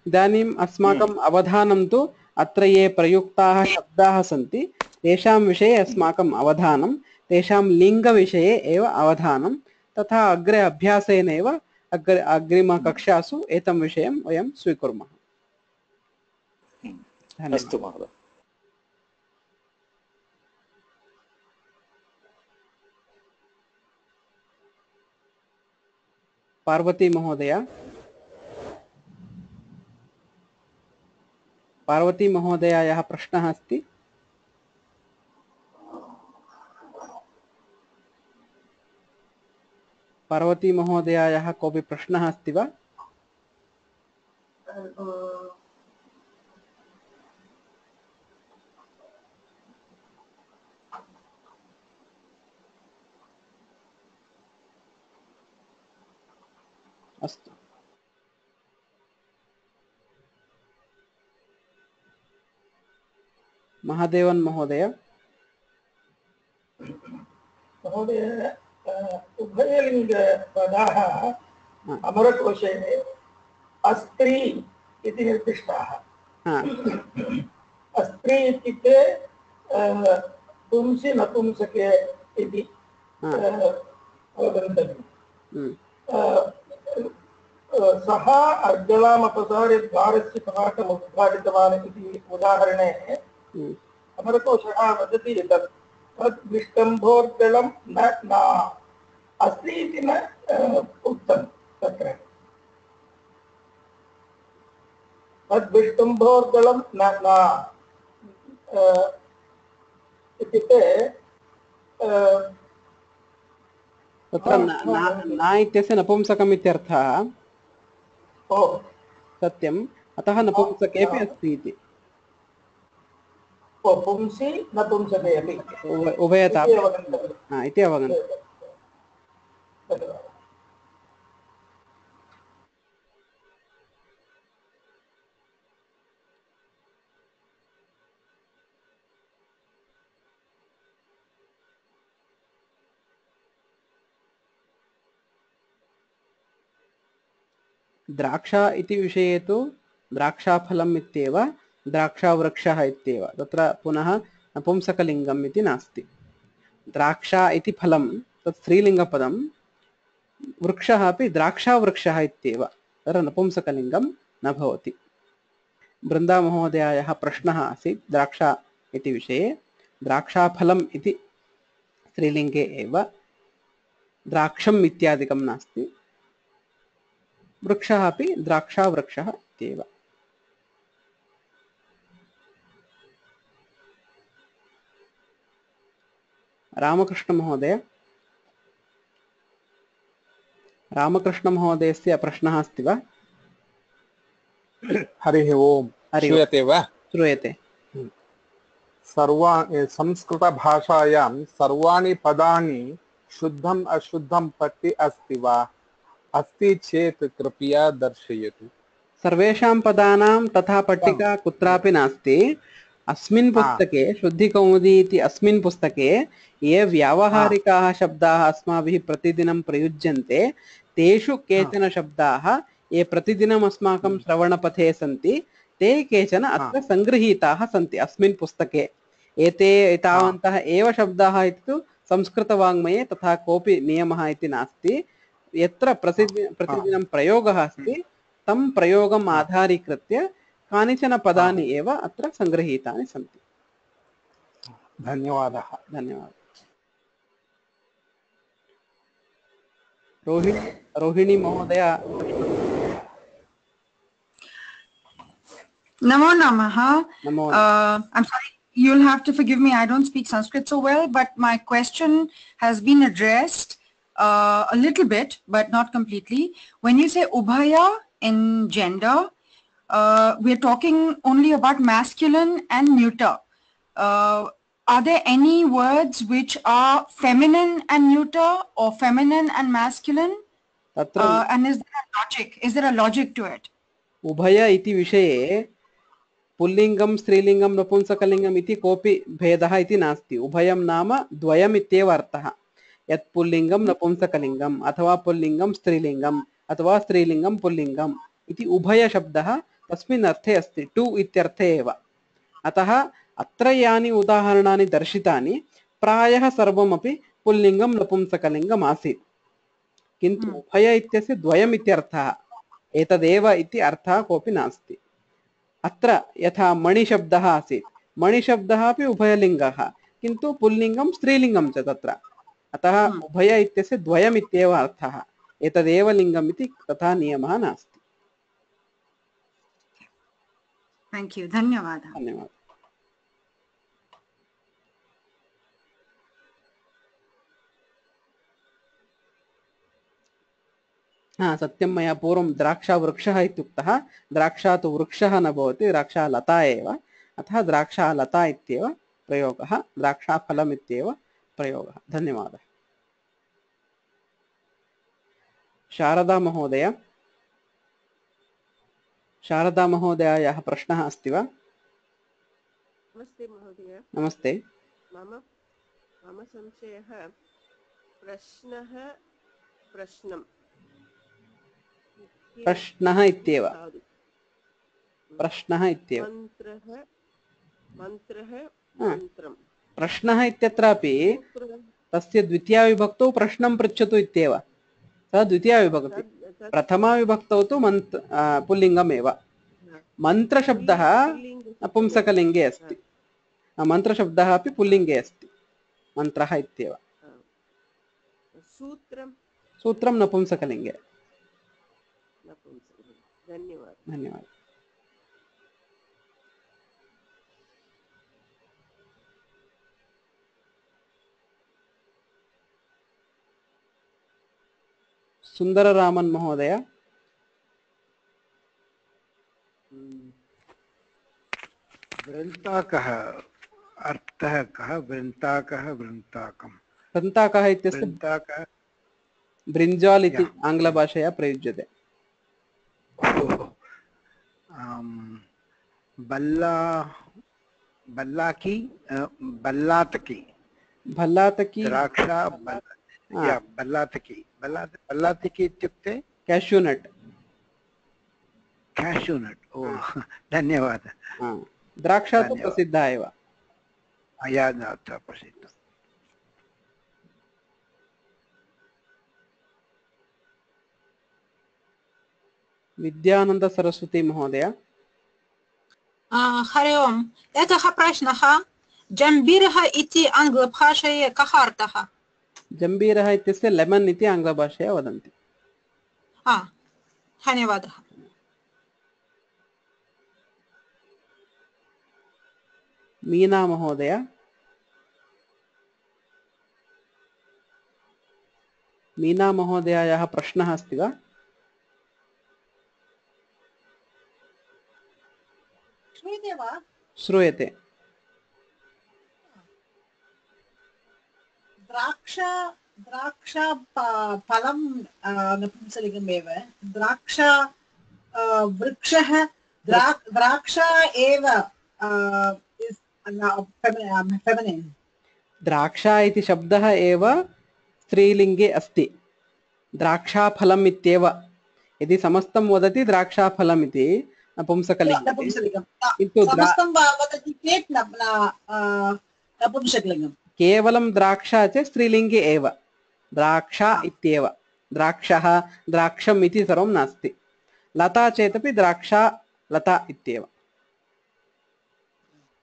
इदानीम् अस्माकम् अवधानं तु अत्र ये प्रयुक्ताः शब्दाः सन्ति तेषां विषये अस्माकम् अवधानं, तेषां लिङ्गविषये एव अवधानं, तथा अग्रे अभ्यासेनैव अग्रिमकक्षासु एतं विषयं वयं स्वीकुर्मः। अस्तु महोदय। पार्वती महोदय। पार्वती महोदयायाः प्रश्नः अस्ति। पार्वती महोदयायाः कोऽपि प्रश्नः अस्ति वा? अस्तु, महादेवन महोदय। महोदय, उभयलिङ्गपदाः अमरकोशे अस्त्री इति निर्दिष्टाः। अस्त्री इत्युक्ते पुंसि नपुंसके इति अवगन्तव्यम्। सः अर्गलाम् अपसार्य द्वारस्य कवाटम् उद्घाटितवान् इति उदाहरणे अमरकोशः वदति यत् तत् विष्टम्भोर्गलं न अस्ति इति न उक्तं तत्र। तद् विष्टम्भोर्गलं न इत्युक्ते तत्र न इत्यस्य नपुंसकम् इत्यर्थः। सत्यम्, अतः नपुंसकेऽपि अस्ति इति। पुंसि नपुंसके अपि उभयता इति अवगन्तव्यम्। द्राक्षा इति विषये तु द्राक्षाफलम् इत्येव, द्राक्षावृक्षः इत्येव, तत्र पुनः नपुंसकलिङ्गम् इति नास्ति। द्राक्षा इति फलं तत् स्त्रीलिङ्गपदं, वृक्षः अपि द्राक्षावृक्षः इत्येव, तत्र नपुंसकलिङ्गं न भवति। बृन्दामहोदयायाः प्रश्नः आसीत् द्राक्षा इति विषये। द्राक्षाफलम् इति स्त्रीलिङ्गे एव, द्राक्षम् इत्यादिकं नास्ति। वृक्षः अपि द्राक्षावृक्षः इत्येव। रामकृष्णमहोदय, रामकृष्णमहोदयस्य प्रश्नः अस्ति वा? हरिः ओम्, श्रूयते वा? श्रूयते। संस्कृतभाषायां सर्वाणि पदानि शुद्धम् अशुद्धं प्रति अस्ति वा? अस्ति चेत् कृपया दर्शयतु। सर्वेषां पदानां तथा पट्टिका कुत्रापि नास्ति। अस्मिन् पुस्तके, शुद्धिकौमुदी इति अस्मिन् पुस्तके ये व्यावहारिकाः शब्दाः अस्माभिः प्रतिदिनं प्रयुज्यन्ते, तेषु केचन शब्दाः ये प्रतिदिनम् अस्माकं श्रवणपथे सन्ति, ते केचन अत्र सङ्गृहीताः सन्ति अस्मिन् पुस्तके। एते एतावन्तः एव शब्दाः इति तु संस्कृतवाङ्मये तथा कोऽपि नियमः इति नास्ति। यत्र प्रतिदिनं प्रयोगः अस्ति तं प्रयोगम् आधारीकृत्य कानिचन पदानि एव अत्र सङ्गृहीतानि सन्ति। धन्यवादः। धन्यवादः। रोहिणी महोदय। Namo Namaha. Namo. I'm sorry, you'll have to forgive me. I don't speak Sanskrit so well, but my question has been addressed a little bit, but not completely. When you say ubhaya in gender, we're talking only about masculine and neuter. Are there any words which are feminine and neuter or feminine and masculine? And is there a logic? Is there a logic to it? Ubhaya iti विषये पुल्लिङ्गं स्त्रीलिङ्गं नपुंसकलिङ्गम् इति कोऽपि भेदः इति नास्ति। उभयं नाम द्वयम् इत्येव अर्थः। यत् पुल्लिङ्गं नपुंसकलिङ्गम् अथवा पुल्लिङ्गं स्त्रीलिङ्गम् अथवा स्त्रीलिङ्गं पुल्लिङ्गम् इति उभयशब्दः तस्मिन् अर्थे अस्ति, टु इत्यर्थे एव। अतः अत्र यानि उदाहरणानि दर्शितानि प्रायः सर्वमपि पुल्लिङ्गं नपुंसकलिङ्गम् आसीत्, किन्तु उभय इत्यस्य द्वयम् इत्यर्थः, एतदेव इति अर्थः कोऽपि नास्ति। अत्र यथा मणिशब्दः आसीत्, मणिशब्दः अपि उभयलिङ्गः, किन्तु पुल्लिङ्गं स्त्रीलिङ्गं च तत्र। अतः उभय इत्यस्य द्वयम् इत्येव अर्थः, एतदेव लिङ्गम् इति तथा नियमः नास्ति। Thank you. धन्यवादः। धन्यवादः। हा सत्यं मया पूर्वं द्राक्षावृक्षः इत्युक्तः द्राक्षा तु वृक्षः न भवति द्राक्षालता एव अतः द्राक्षालता इत्येव प्रयोगः द्राक्षाफलम् इत्येव प्रयोगः धन्यवादः शारदा महोदयायाः प्रश्नः अस्ति वा नमस्ते महोदय नमस्ते मम मम संशयः प्रश्नः प्रश्नं प्रश्नः इत्येव प्रश्नः इत्येव मन्त्रः मन्त्रः हा, मन्त्रं प्रश्नः इत्यत्रापि तस्य द्वितीयाविभक्तौ प्रश्नं पृच्छतु इत्येव सः द्वितीयाविभक्ति प्रथमाविभक्तौ तु पुल्लिङ्गमेव मन्त्रशब्दः नपुंसकलिङ्गे अस्ति मन्त्रशब्दः अपि पुल्लिङ्गे अस्ति मन्त्रः इत्येव सूत्रं नपुंसकलिङ्गे धन्यवादः धन्यवादः सुन्दररामन् महोदय वृन्ताकः अर्थः कः वृन्ताकः वृन्ताकं वृन्ताकः इत्यस्य ब्रिञ्जाल् इति आङ्ग्लभाषया प्रयुज्यते बल्लाकी बल्लातकी भल्लातकी द्राक्षा बल्लातकी इत्युक्ते कैश्यूनट ओ धन्यवादः द्राक्षा तु प्रसिद्धा एव प्रसिद्ध विद्यानंद सरस्वती महोदय हरि ओम् एकः प्रश्नः जम्बीरः इति आङ्ग्लभाषायां कः अर्थः जम्बीरः इत्यस्य लेमन् इति आङ्ग्लभाषया वदन्ति धन्यवादः मीना महोदय मीना महोदयायाः प्रश्नः अस्ति वा श्रूयते वा श्रूयते द्राक्षा फलं नपुंसकलिङ्गमेव द्राक्षा वृक्षः द्राक्षा एव फेमिनिन् द्राक्षा इति शब्दः एव स्त्रीलिङ्गे अस्ति द्राक्षाफलम् इत्येव यदि समस्तं वदति द्राक्षाफलम् इति नपुंसकलिङ्गे किन्तु नपुंसकलिङ्गं केवलं द्राक्षा च स्त्रीलिङ्गे एव द्राक्षा इत्येव द्राक्षः द्राक्षम् इति सर्वं नास्ति लता चेदपि द्राक्षा लता इत्येव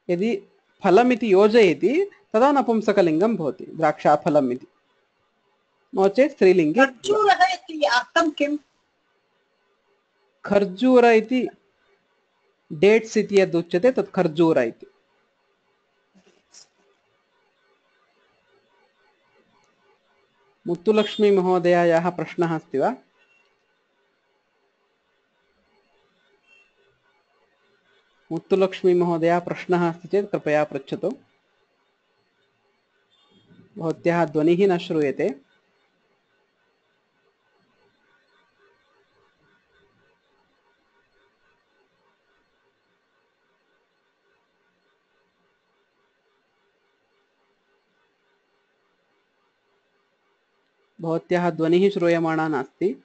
यदि फलमिति योजयति तदा नपुंसकलिङ्गं भवति द्राक्षाफलम् इति नो चेत् स्त्रीलिङ्गे खर्जूरः इति अर्थं किम् खर्जूर इति डेट्स् इति यद् उच्यते तत् खर्जूर इति मुत्तुलक्ष्मी महोदयायाः प्रश्नः अस्ति वा मुत्तुलक्ष्मी महोदया प्रश्नः अस्ति चेत् कृपया पृच्छतु भवत्याः ध्वनिः न श्रूयते भवत्याः ध्वनिः श्रूयमाणा नास्ति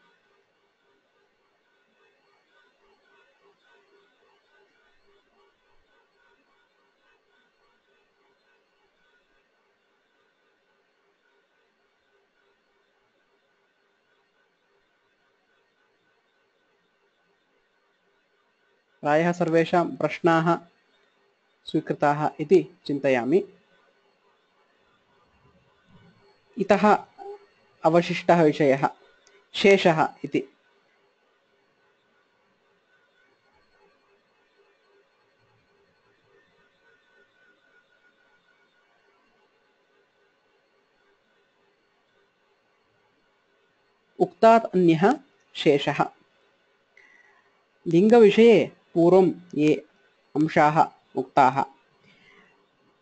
प्रायः सर्वेषां प्रश्नाः स्वीकृताः इति चिन्तयामि इतः अवशिष्टः विषयः शेषः इति उक्तात् अन्यः शेषः। लिङ्गविषये पूर्वं ये अंशाः उक्ताः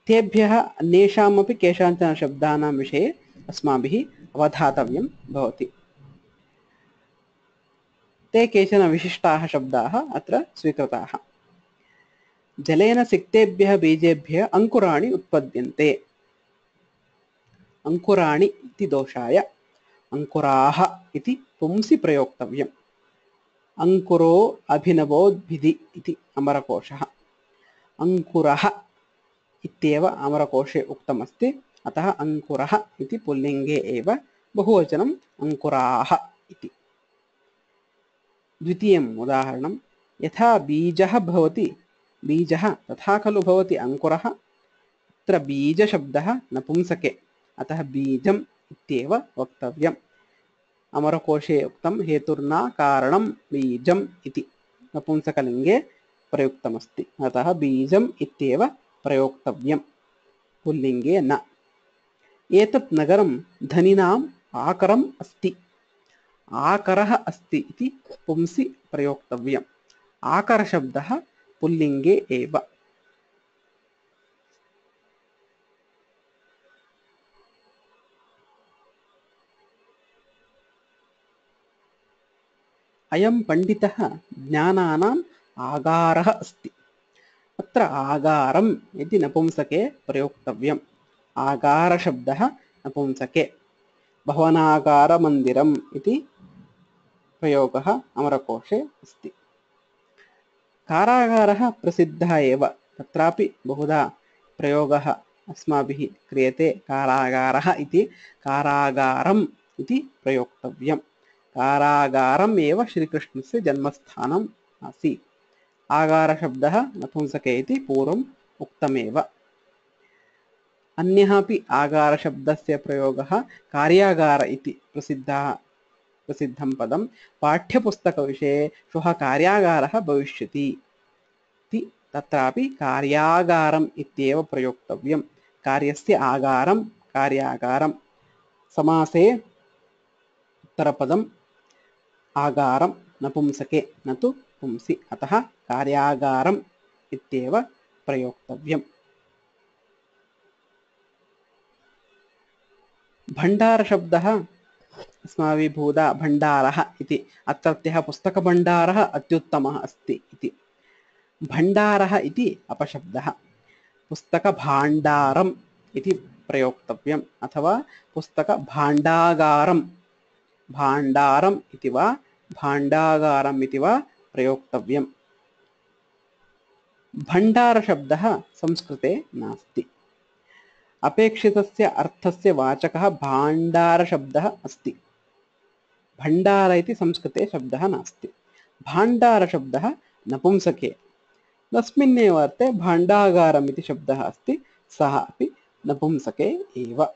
तेभ्यः अन्येषामपि केषाञ्चन शब्दानां विषये अस्माभिः अवधातव्यं भवति। ते केचन विशिष्टाः शब्दाः अत्र स्वीकृताः। जलेन सिक्तेभ्यः बीजेभ्यः अङ्कुराणि उत्पद्यन्ते। अङ्कुराणि इति दोषाय अङ्कुराः इति पुंसि प्रयोक्तव्यम्। अङ्कुरो अभिनवोद्भिदि इति अमरकोशः। अङ्कुरः इत्येव अमरकोशे उक्तमस्ति, अतः अङ्कुरः इति पुल्लिङ्गे एव, बहुवचनम् अङ्कुराः इति। द्वितीयम् उदाहरणं, यथा बीजः भवति बीजः तथा खलु भवति अङ्कुरः। अत्र बीजशब्दः नपुंसके, अतः बीजम् इत्येव वक्तव्यम्। अमरकोशे उक्तं हेतुर्ना कारणं बीजम् इति नपुंसकलिङ्गे प्रयुक्तमस्ति, अतः बीजम् इत्येव प्रयोक्तव्यम्, पुल्लिङ्गे न। एतत् नगरं धनिनाम् आकरम् अस्ति। आकरः अस्ति इति पुंसि प्रयोक्तव्यम्। आकरशब्दः पुल्लिङ्गे एव। अयं पण्डितः ज्ञानानाम् आगारः अस्ति। अत्र आगारम् इति नपुंसके प्रयोक्तव्यम्। आगारशब्दः नपुंसके। भवनागारमन्दिरम् इति प्रयोगः अमरकोशे अस्ति। कारागारः प्रसिद्धः एव, तत्रापि बहुधा प्रयोगः अस्माभिः क्रियते। कारागारः इति कारागारम् इति प्रयोक्तव्यम्। कारागारम् एव श्रीकृष्णस्य जन्मस्थानम् आसीत्। आगारशब्दः नपुंसके इति पूर्वम् उक्तमेव। अन्यः अपि आगारशब्दस्य प्रयोगः कार्यागार इति प्रसिद्धं पदं। पाठ्यपुस्तकविषये श्वः कार्यागारः भविष्यति इति, तत्रापि कार्यागारम् इत्येव प्रयोक्तव्यं। कार्यस्य आगारं कार्यागारं। समासे उत्तरपदम् आगारं नपुंसके न तु पुंसि, अतः कार्यागारम् इत्येव प्रयोक्तव्यम्। भण्डारशब्दः अस्माभिः बहुधा भण्डारः इति, अत्रत्यः पुस्तकभण्डारः अत्युत्तमः अस्ति इति। भण्डारः इति अपशब्दः। पुस्तकभाण्डारम् इति प्रयोक्तव्यम्, अथवा पुस्तकभाण्डागारं। भाण्डारम् इति वा भाण्डागारम् इति वा प्रयोक्तव्यम्। भण्डारशब्दः संस्कृते नास्ति। अपेक्षितस्य अर्थस्य वाचकः भाण्डारशब्दः अस्ति। भण्डार इति संस्कृते शब्दः नास्ति। भाण्डारशब्दः नपुंसके। तस्मिन्नेव अर्थे भाण्डागारम् इति शब्दः अस्ति, सः अपि नपुंसके एव।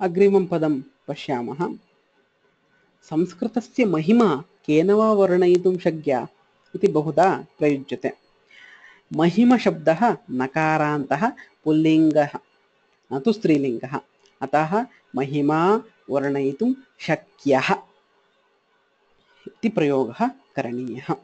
अग्रिमं पदं पश्यामः। संस्कृतस्य महिमा केन वा वर्णयितुं शक्या इति बहुधा प्रयुज्यते। महिमशब्दः नकारान्तः पुल्लिङ्गः, न तु स्त्रीलिङ्गः, अतः महिमा वर्णयितुं शक्यः इति प्रयोगः करणीयः।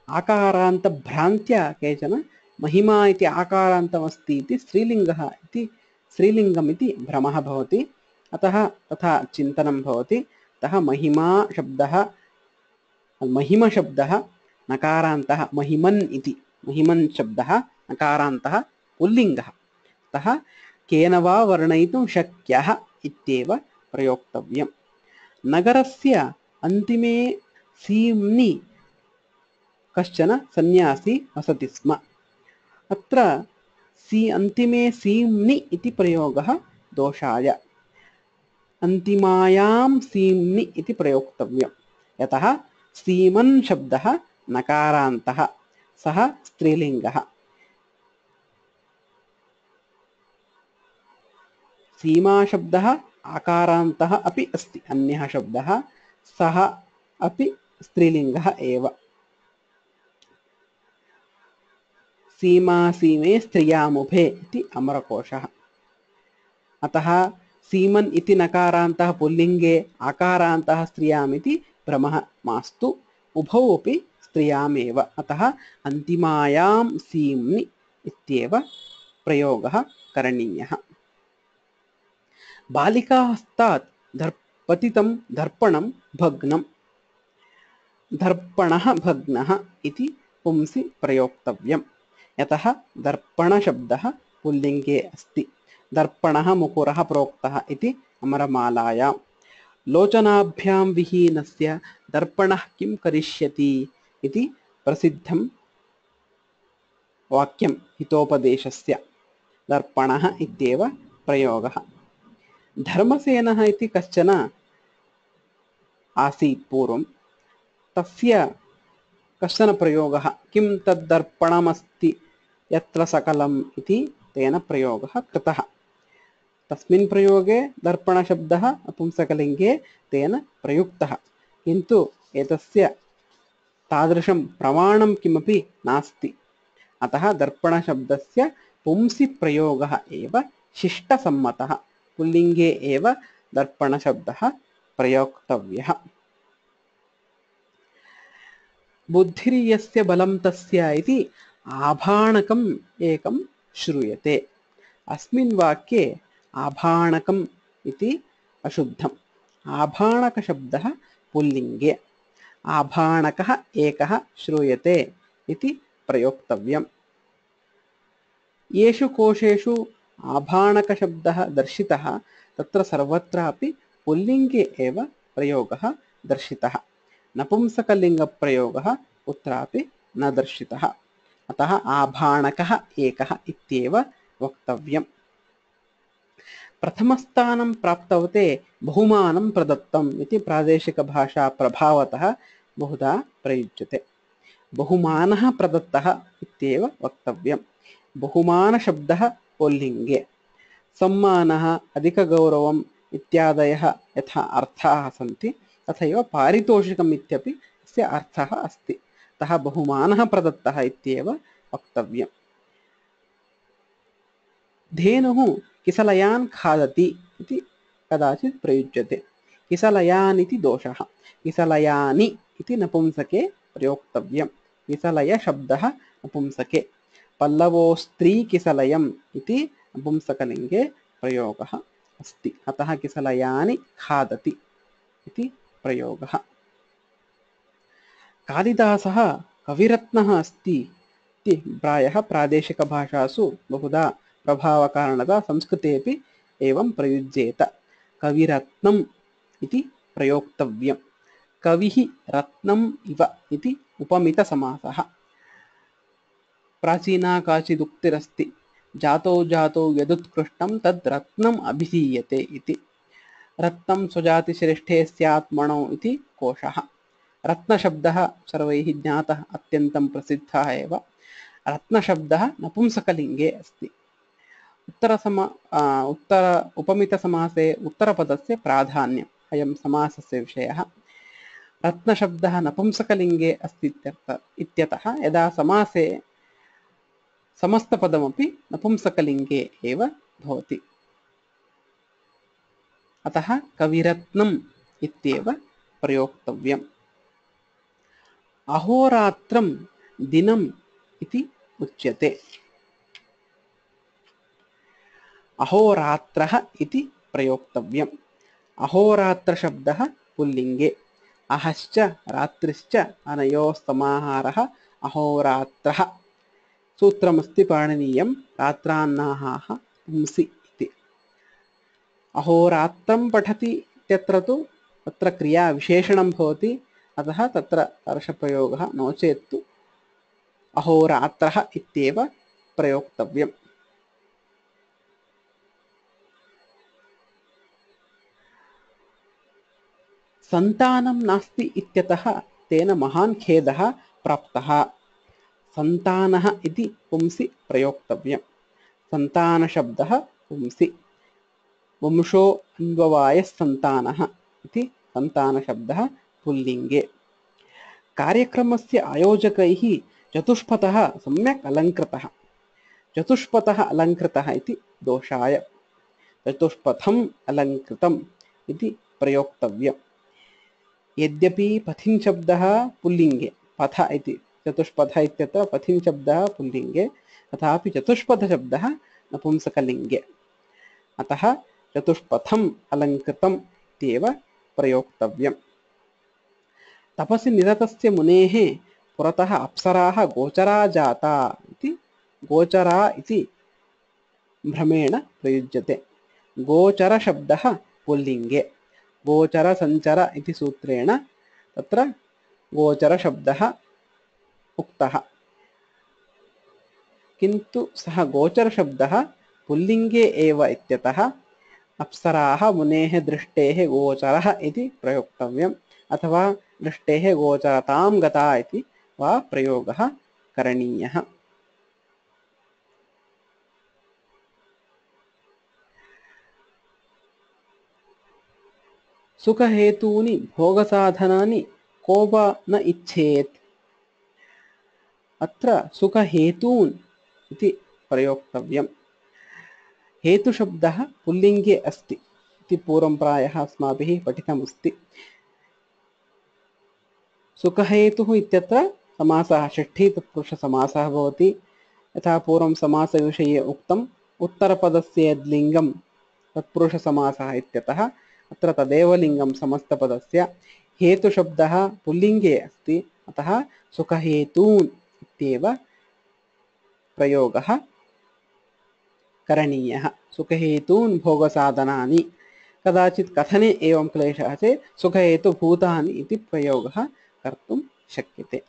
आकारान्तभ्रान्त्या केचन महिमा इति आकारान्तमस्ति इति स्त्रीलिङ्गम् इति भ्रमः भवति, अतः तथा चिन्तनं भवति। अतः महिमशब्दः नकारान्तः, महिमन् शब्दः नकारान्तः पुल्लिङ्गः, अतः केन वा वर्णयितुं शक्यः इत्येव प्रयोक्तव्यम्। नगरस्य अन्तिमे सीम्नि कश्चन सन्यासी वसति स्म। अत्र अन्तिमे सीम्नि इति प्रयोगः दोषाय। अन्तिमायां सीम्नि इति प्रयोक्तव्यम्। यतः सीमन् शब्दः नकारान्तः, सः स्त्रीलिङ्गः। सीमा शब्दः आकारान्तः अपि अस्ति, अन्यः शब्दः, सः अपि स्त्रीलिङ्गः एव। सीमा सीमे स्त्रियामुभे इति अमरकोशः। अतः सीमन् इति नकारान्तः पुल्लिङ्गे, आकारान्तः स्त्रियाम् इति भ्रमः मास्तु, उभौ अपि स्त्रियामेव। अतः अन्तिमायां सीम्नि इत्येव प्रयोगः करणीयः। बालिकाहस्तात् पतितं दर्पणं भग्नं। दर्पणः भग्नः इति पुंसि प्रयोक्तव्यम्, यतः दर्पणशब्दः पुल्लिङ्गे अस्ति। दर्पणः मुकुरः प्रोक्तः इति अमरमालायां। लोचनाभ्यां विहीनस्य दर्पणः किं करिष्यति इति प्रसिद्धं वाक्यं हितोपदेशस्य। दर्पणः इत्येव प्रयोगः। धर्मसेनः इति कश्चन आसीत् पूर्वं, तस्य कश्चन प्रयोगः, किं तद्दर्पणमस्ति यत्र सकलम् इति तेन प्रयोगः कृतः। तस्मिन् प्रयोगे दर्पणशब्दः नपुंसकलिङ्गे तेन प्रयुक्तः, किन्तु एतस्य तादृशं प्रमाणं किमपि नास्ति। अतः दर्पणशब्दस्य पुंसि प्रयोगः एव शिष्टसम्मतः। पुल्लिङ्गे एव दर्पणशब्दः प्रयोक्तव्यः। बुद्धिर्यस्य बलं तस्य इति आभाणकम् एकं श्रूयते। अस्मिन् वाक्ये आभाणकम् इति अशुद्धम्। आभाणकशब्दः पुल्लिङ्गे, आभाणकः एकः श्रूयते इति प्रयोक्तव्यम्। येषु कोशेषु आभाणकशब्दः दर्शितः तत्र सर्वत्रापि पुल्लिङ्गे एव प्रयोगः दर्शितः। नपुंसकलिङ्गप्रयोगः कुत्रापि न दर्शितः। अतः आभाणकः एकः इत्येव वक्तव्यम्। प्रथमस्थानं प्राप्तवते बहुमानं प्रदत्तम् इति प्रादेशिकभाषा प्रभावतः बहुधा प्रयुज्यते। बहुमानः प्रदत्तः इत्येव वक्तव्यम्। बहुमानशब्दः पुल्लिङ्गे। सम्मानः, अधिकगौरवम् इत्यादयः यथा अर्थाः सन्ति, तथैव पारितोषिकम् इत्यपि अस्य अर्थः अस्ति। अतः बहुमानः प्रदत्तः इत्येव वक्तव्यम्। धेनुः किसलयान् खादति इति कदाचित् प्रयुज्यते। किसलयान् इति दोषः। किसलयानि इति नपुंसके प्रयोक्तव्यम्। किसलयशब्दः नपुंसके। पल्लवोस्त्री किसलयम् इति नपुंसकलिङ्गे प्रयोगः अस्ति। अतः किसलयानि खादति इति प्रयोगः। कालिदासः कविरत्नः अस्ति इति प्रायः प्रादेशिकभाषासु बहुधा प्रभावकारणतः संस्कृतेपि एवं प्रयुज्येत। कविरत्नम् इति प्रयोक्तव्यम्। कविः रत्नम् इव इति उपमितसमासः। प्राचीना काचिदुक्तिरस्ति, जातो जातो यदुत्कृष्टं तद् रत्नम् अभिधीयते इति। रत्नं स्वजातिश्रेष्ठे स्यात् मणौ इति कोशः। रत्नशब्दः सर्वैः ज्ञातः, अत्यन्तं प्रसिद्धः एव। रत्नशब्दः नपुंसकलिङ्गे अस्ति। उपमितसमासे उत्तरपदस्य प्राधान्यम् अयं समासस्य विषयः। रत्नशब्दः नपुंसकलिङ्गे अस्ति इत्यतः यदा समासे समस्तपदमपि नपुंसकलिङ्गे एव भवति। अतः कविरत्नम् इत्येव प्रयोक्तव्यम्। अहोरात्रं दिनम् इति उच्यते। अहोरात्रः इति प्रयोक्तव्यम्। अहोरात्रशब्दः पुल्लिङ्गे। अहश्च रात्रिश्च अनयोः समाहारः अहोरात्रः। सूत्रमस्ति पाणिनीयं, रात्रान्नाहाः पुंसि इति। अहोरात्रं पठति इत्यत्र तु तत्र क्रिया विशेषणं भवति, अतः तत्र परशप्रयोगः, नो चेत् तु अहोरात्रः इत्येव प्रयोक्तव्यम्। सन्तानं नास्ति इत्यतः तेन महान् खेदः प्राप्तः। सन्तानः इति पुंसि प्रयोक्तव्यम्। सन्तानशब्दः पुंसि। वंशो अन्ववायः सन्तानः इति सन्तानशब्दः पुल्लिङ्गे। कार्यक्रमस्य आयोजकैः चतुष्पथः सम्यक् अलङ्कृतः। चतुष्पथः अलङ्कृतः इति दोषाय। चतुष्पथम् अलङ्कृतम् इति प्रयोक्तव्यम्। यद्यपि पथिन् शब्दः पुल्लिङ्गे, पथ इति चतुष्पथ इत्यत्र पथिन् शब्दः पुल्लिङ्गे, तथापि चतुष्पथशब्दः नपुंसकलिङ्गे। अतः चतुष्पथम् अलङ्कृतम् इत्येव प्रयोक्तव्यम्। तपसि निरतस्य मुनेः पुरतः अप्सराः गोचरा जाता इति गोचरा इति भ्रमेण प्रयुज्यते। गोचरशब्दः पुल्लिङ्गे। गोचर सञ्चर इति सूत्रेण तत्र गोचरशब्दः उक्तः, किन्तु सः गोचरशब्दः पुल्लिङ्गे एव इत्यतः अप्सराः मुनेः दृष्टेः गोचरः इति प्रयोक्तव्यम्, अथवा दृष्टेः गोचरतां गता इति वा प्रयोगः करणीयः। सुखहेतूनि भोगसाधनानि को वा न इच्छेत्। अत्र सुखहेतून् इति प्रयोक्तव्यम्। हेतुशब्दः पुल्लिङ्गे अस्ति इति पूर्वं प्रायः अस्माभिः पठितमस्ति। सुखहेतुः इत्यत्र समासः षष्ठी तत्पुरुषसमासः भवति। यथा पूर्वं समासविषये उक्तम्, उत्तरपदस्य यद्लिङ्गं तत्पुरुषसमासः इत्यतः अत्र तदेव लिङ्गं समस्तपदस्य। हेतुशब्दः पुल्लिङ्गे अस्ति, अतः सुखहेतून् इत्येव प्रयोगः करणीयः। सुखहेतून् भोगसाधनानि। कदाचित् कथने एवं क्लेशः चेत् सुखहेतुभूतानि इति प्रयोगः कर्तुं शक्यते।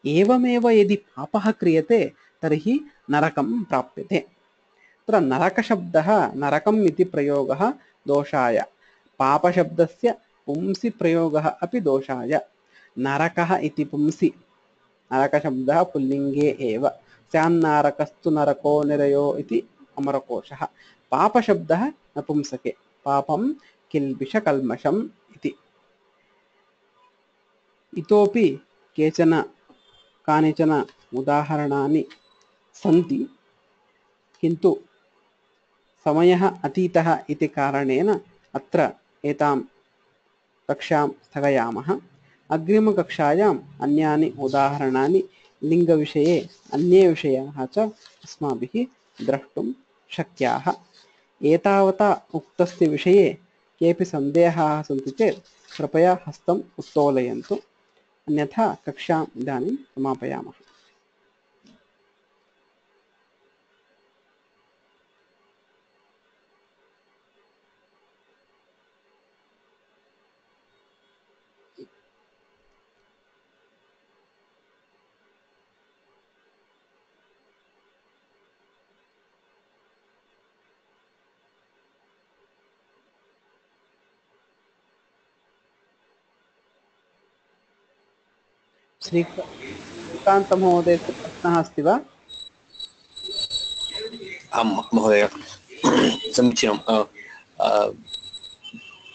एवमेव यदि पापः क्रियते तर्हि नरकं प्राप्यते। अत्र नरकशब्दः नरकम् इति प्रयोगः दोषाय। पापशब्दस्य पुंसि प्रयोगः अपि दोषाय। नरकः इति पुंसि, नरकशब्दः पुल्लिङ्गे एव। स्यान्नारकस्तु नरको निरयो इति अमरकोशः। पापशब्दः नपुंसके, पापं किल्बिषकल्मषम् इति। इतोपि कानिचन उदाहरणानि सन्ति, किन्तु समयः अतीतः इति कारणेन अत्र एतां कक्षां स्थगयामः। अग्रिमकक्षायाम् अन्यानि उदाहरणानि लिङ्गविषये अन्ये विषयाः च अस्माभिः द्रष्टुं शक्याः। एतावता उक्तस्य विषये केऽपि सन्देहाः सन्ति चेत् कृपया हस्तम् उत्तोलयन्तु, अन्यथा कक्षाम् इदानीं समापयामः। श्रीकान्तमहोदयस्य प्रश्नः अस्ति वा? आं महोदय, समीचीनं।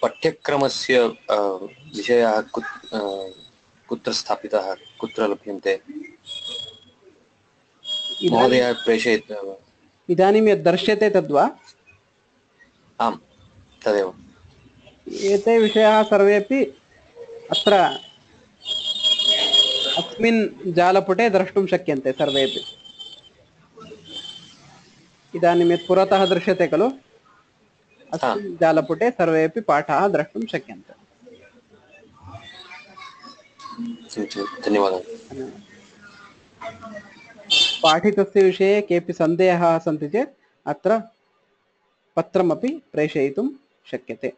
पाठ्यक्रमस्य विषयः कुत्र स्थापितः, कुत्र लभ्यन्ते महोदय प्रेषयति? इदानीं यद् दर्श्यते तद्वा? आं तदेव। एते विषयाः सर्वेपि अत्र अस्मिन् जालपुटे द्रष्टुं शक्यन्ते सर्वेपि। इदानीं यत् पुरतः दृश्यते खलु, अस्मिन् जालपुटे सर्वेपि पाठाः द्रष्टुं शक्यन्ते। धन्यवादः। पाठितस्य विषये केऽपि सन्देहाः सन्ति चेत् अत्र पत्रमपि प्रेषयितुं शक्यते।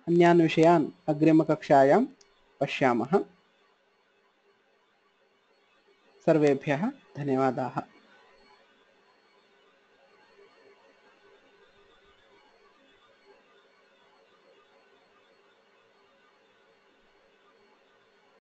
अन्यान् विषयान् अग्रिमकक्षायां पश्यामः। सर्वेभ्यः धन्यवादाः।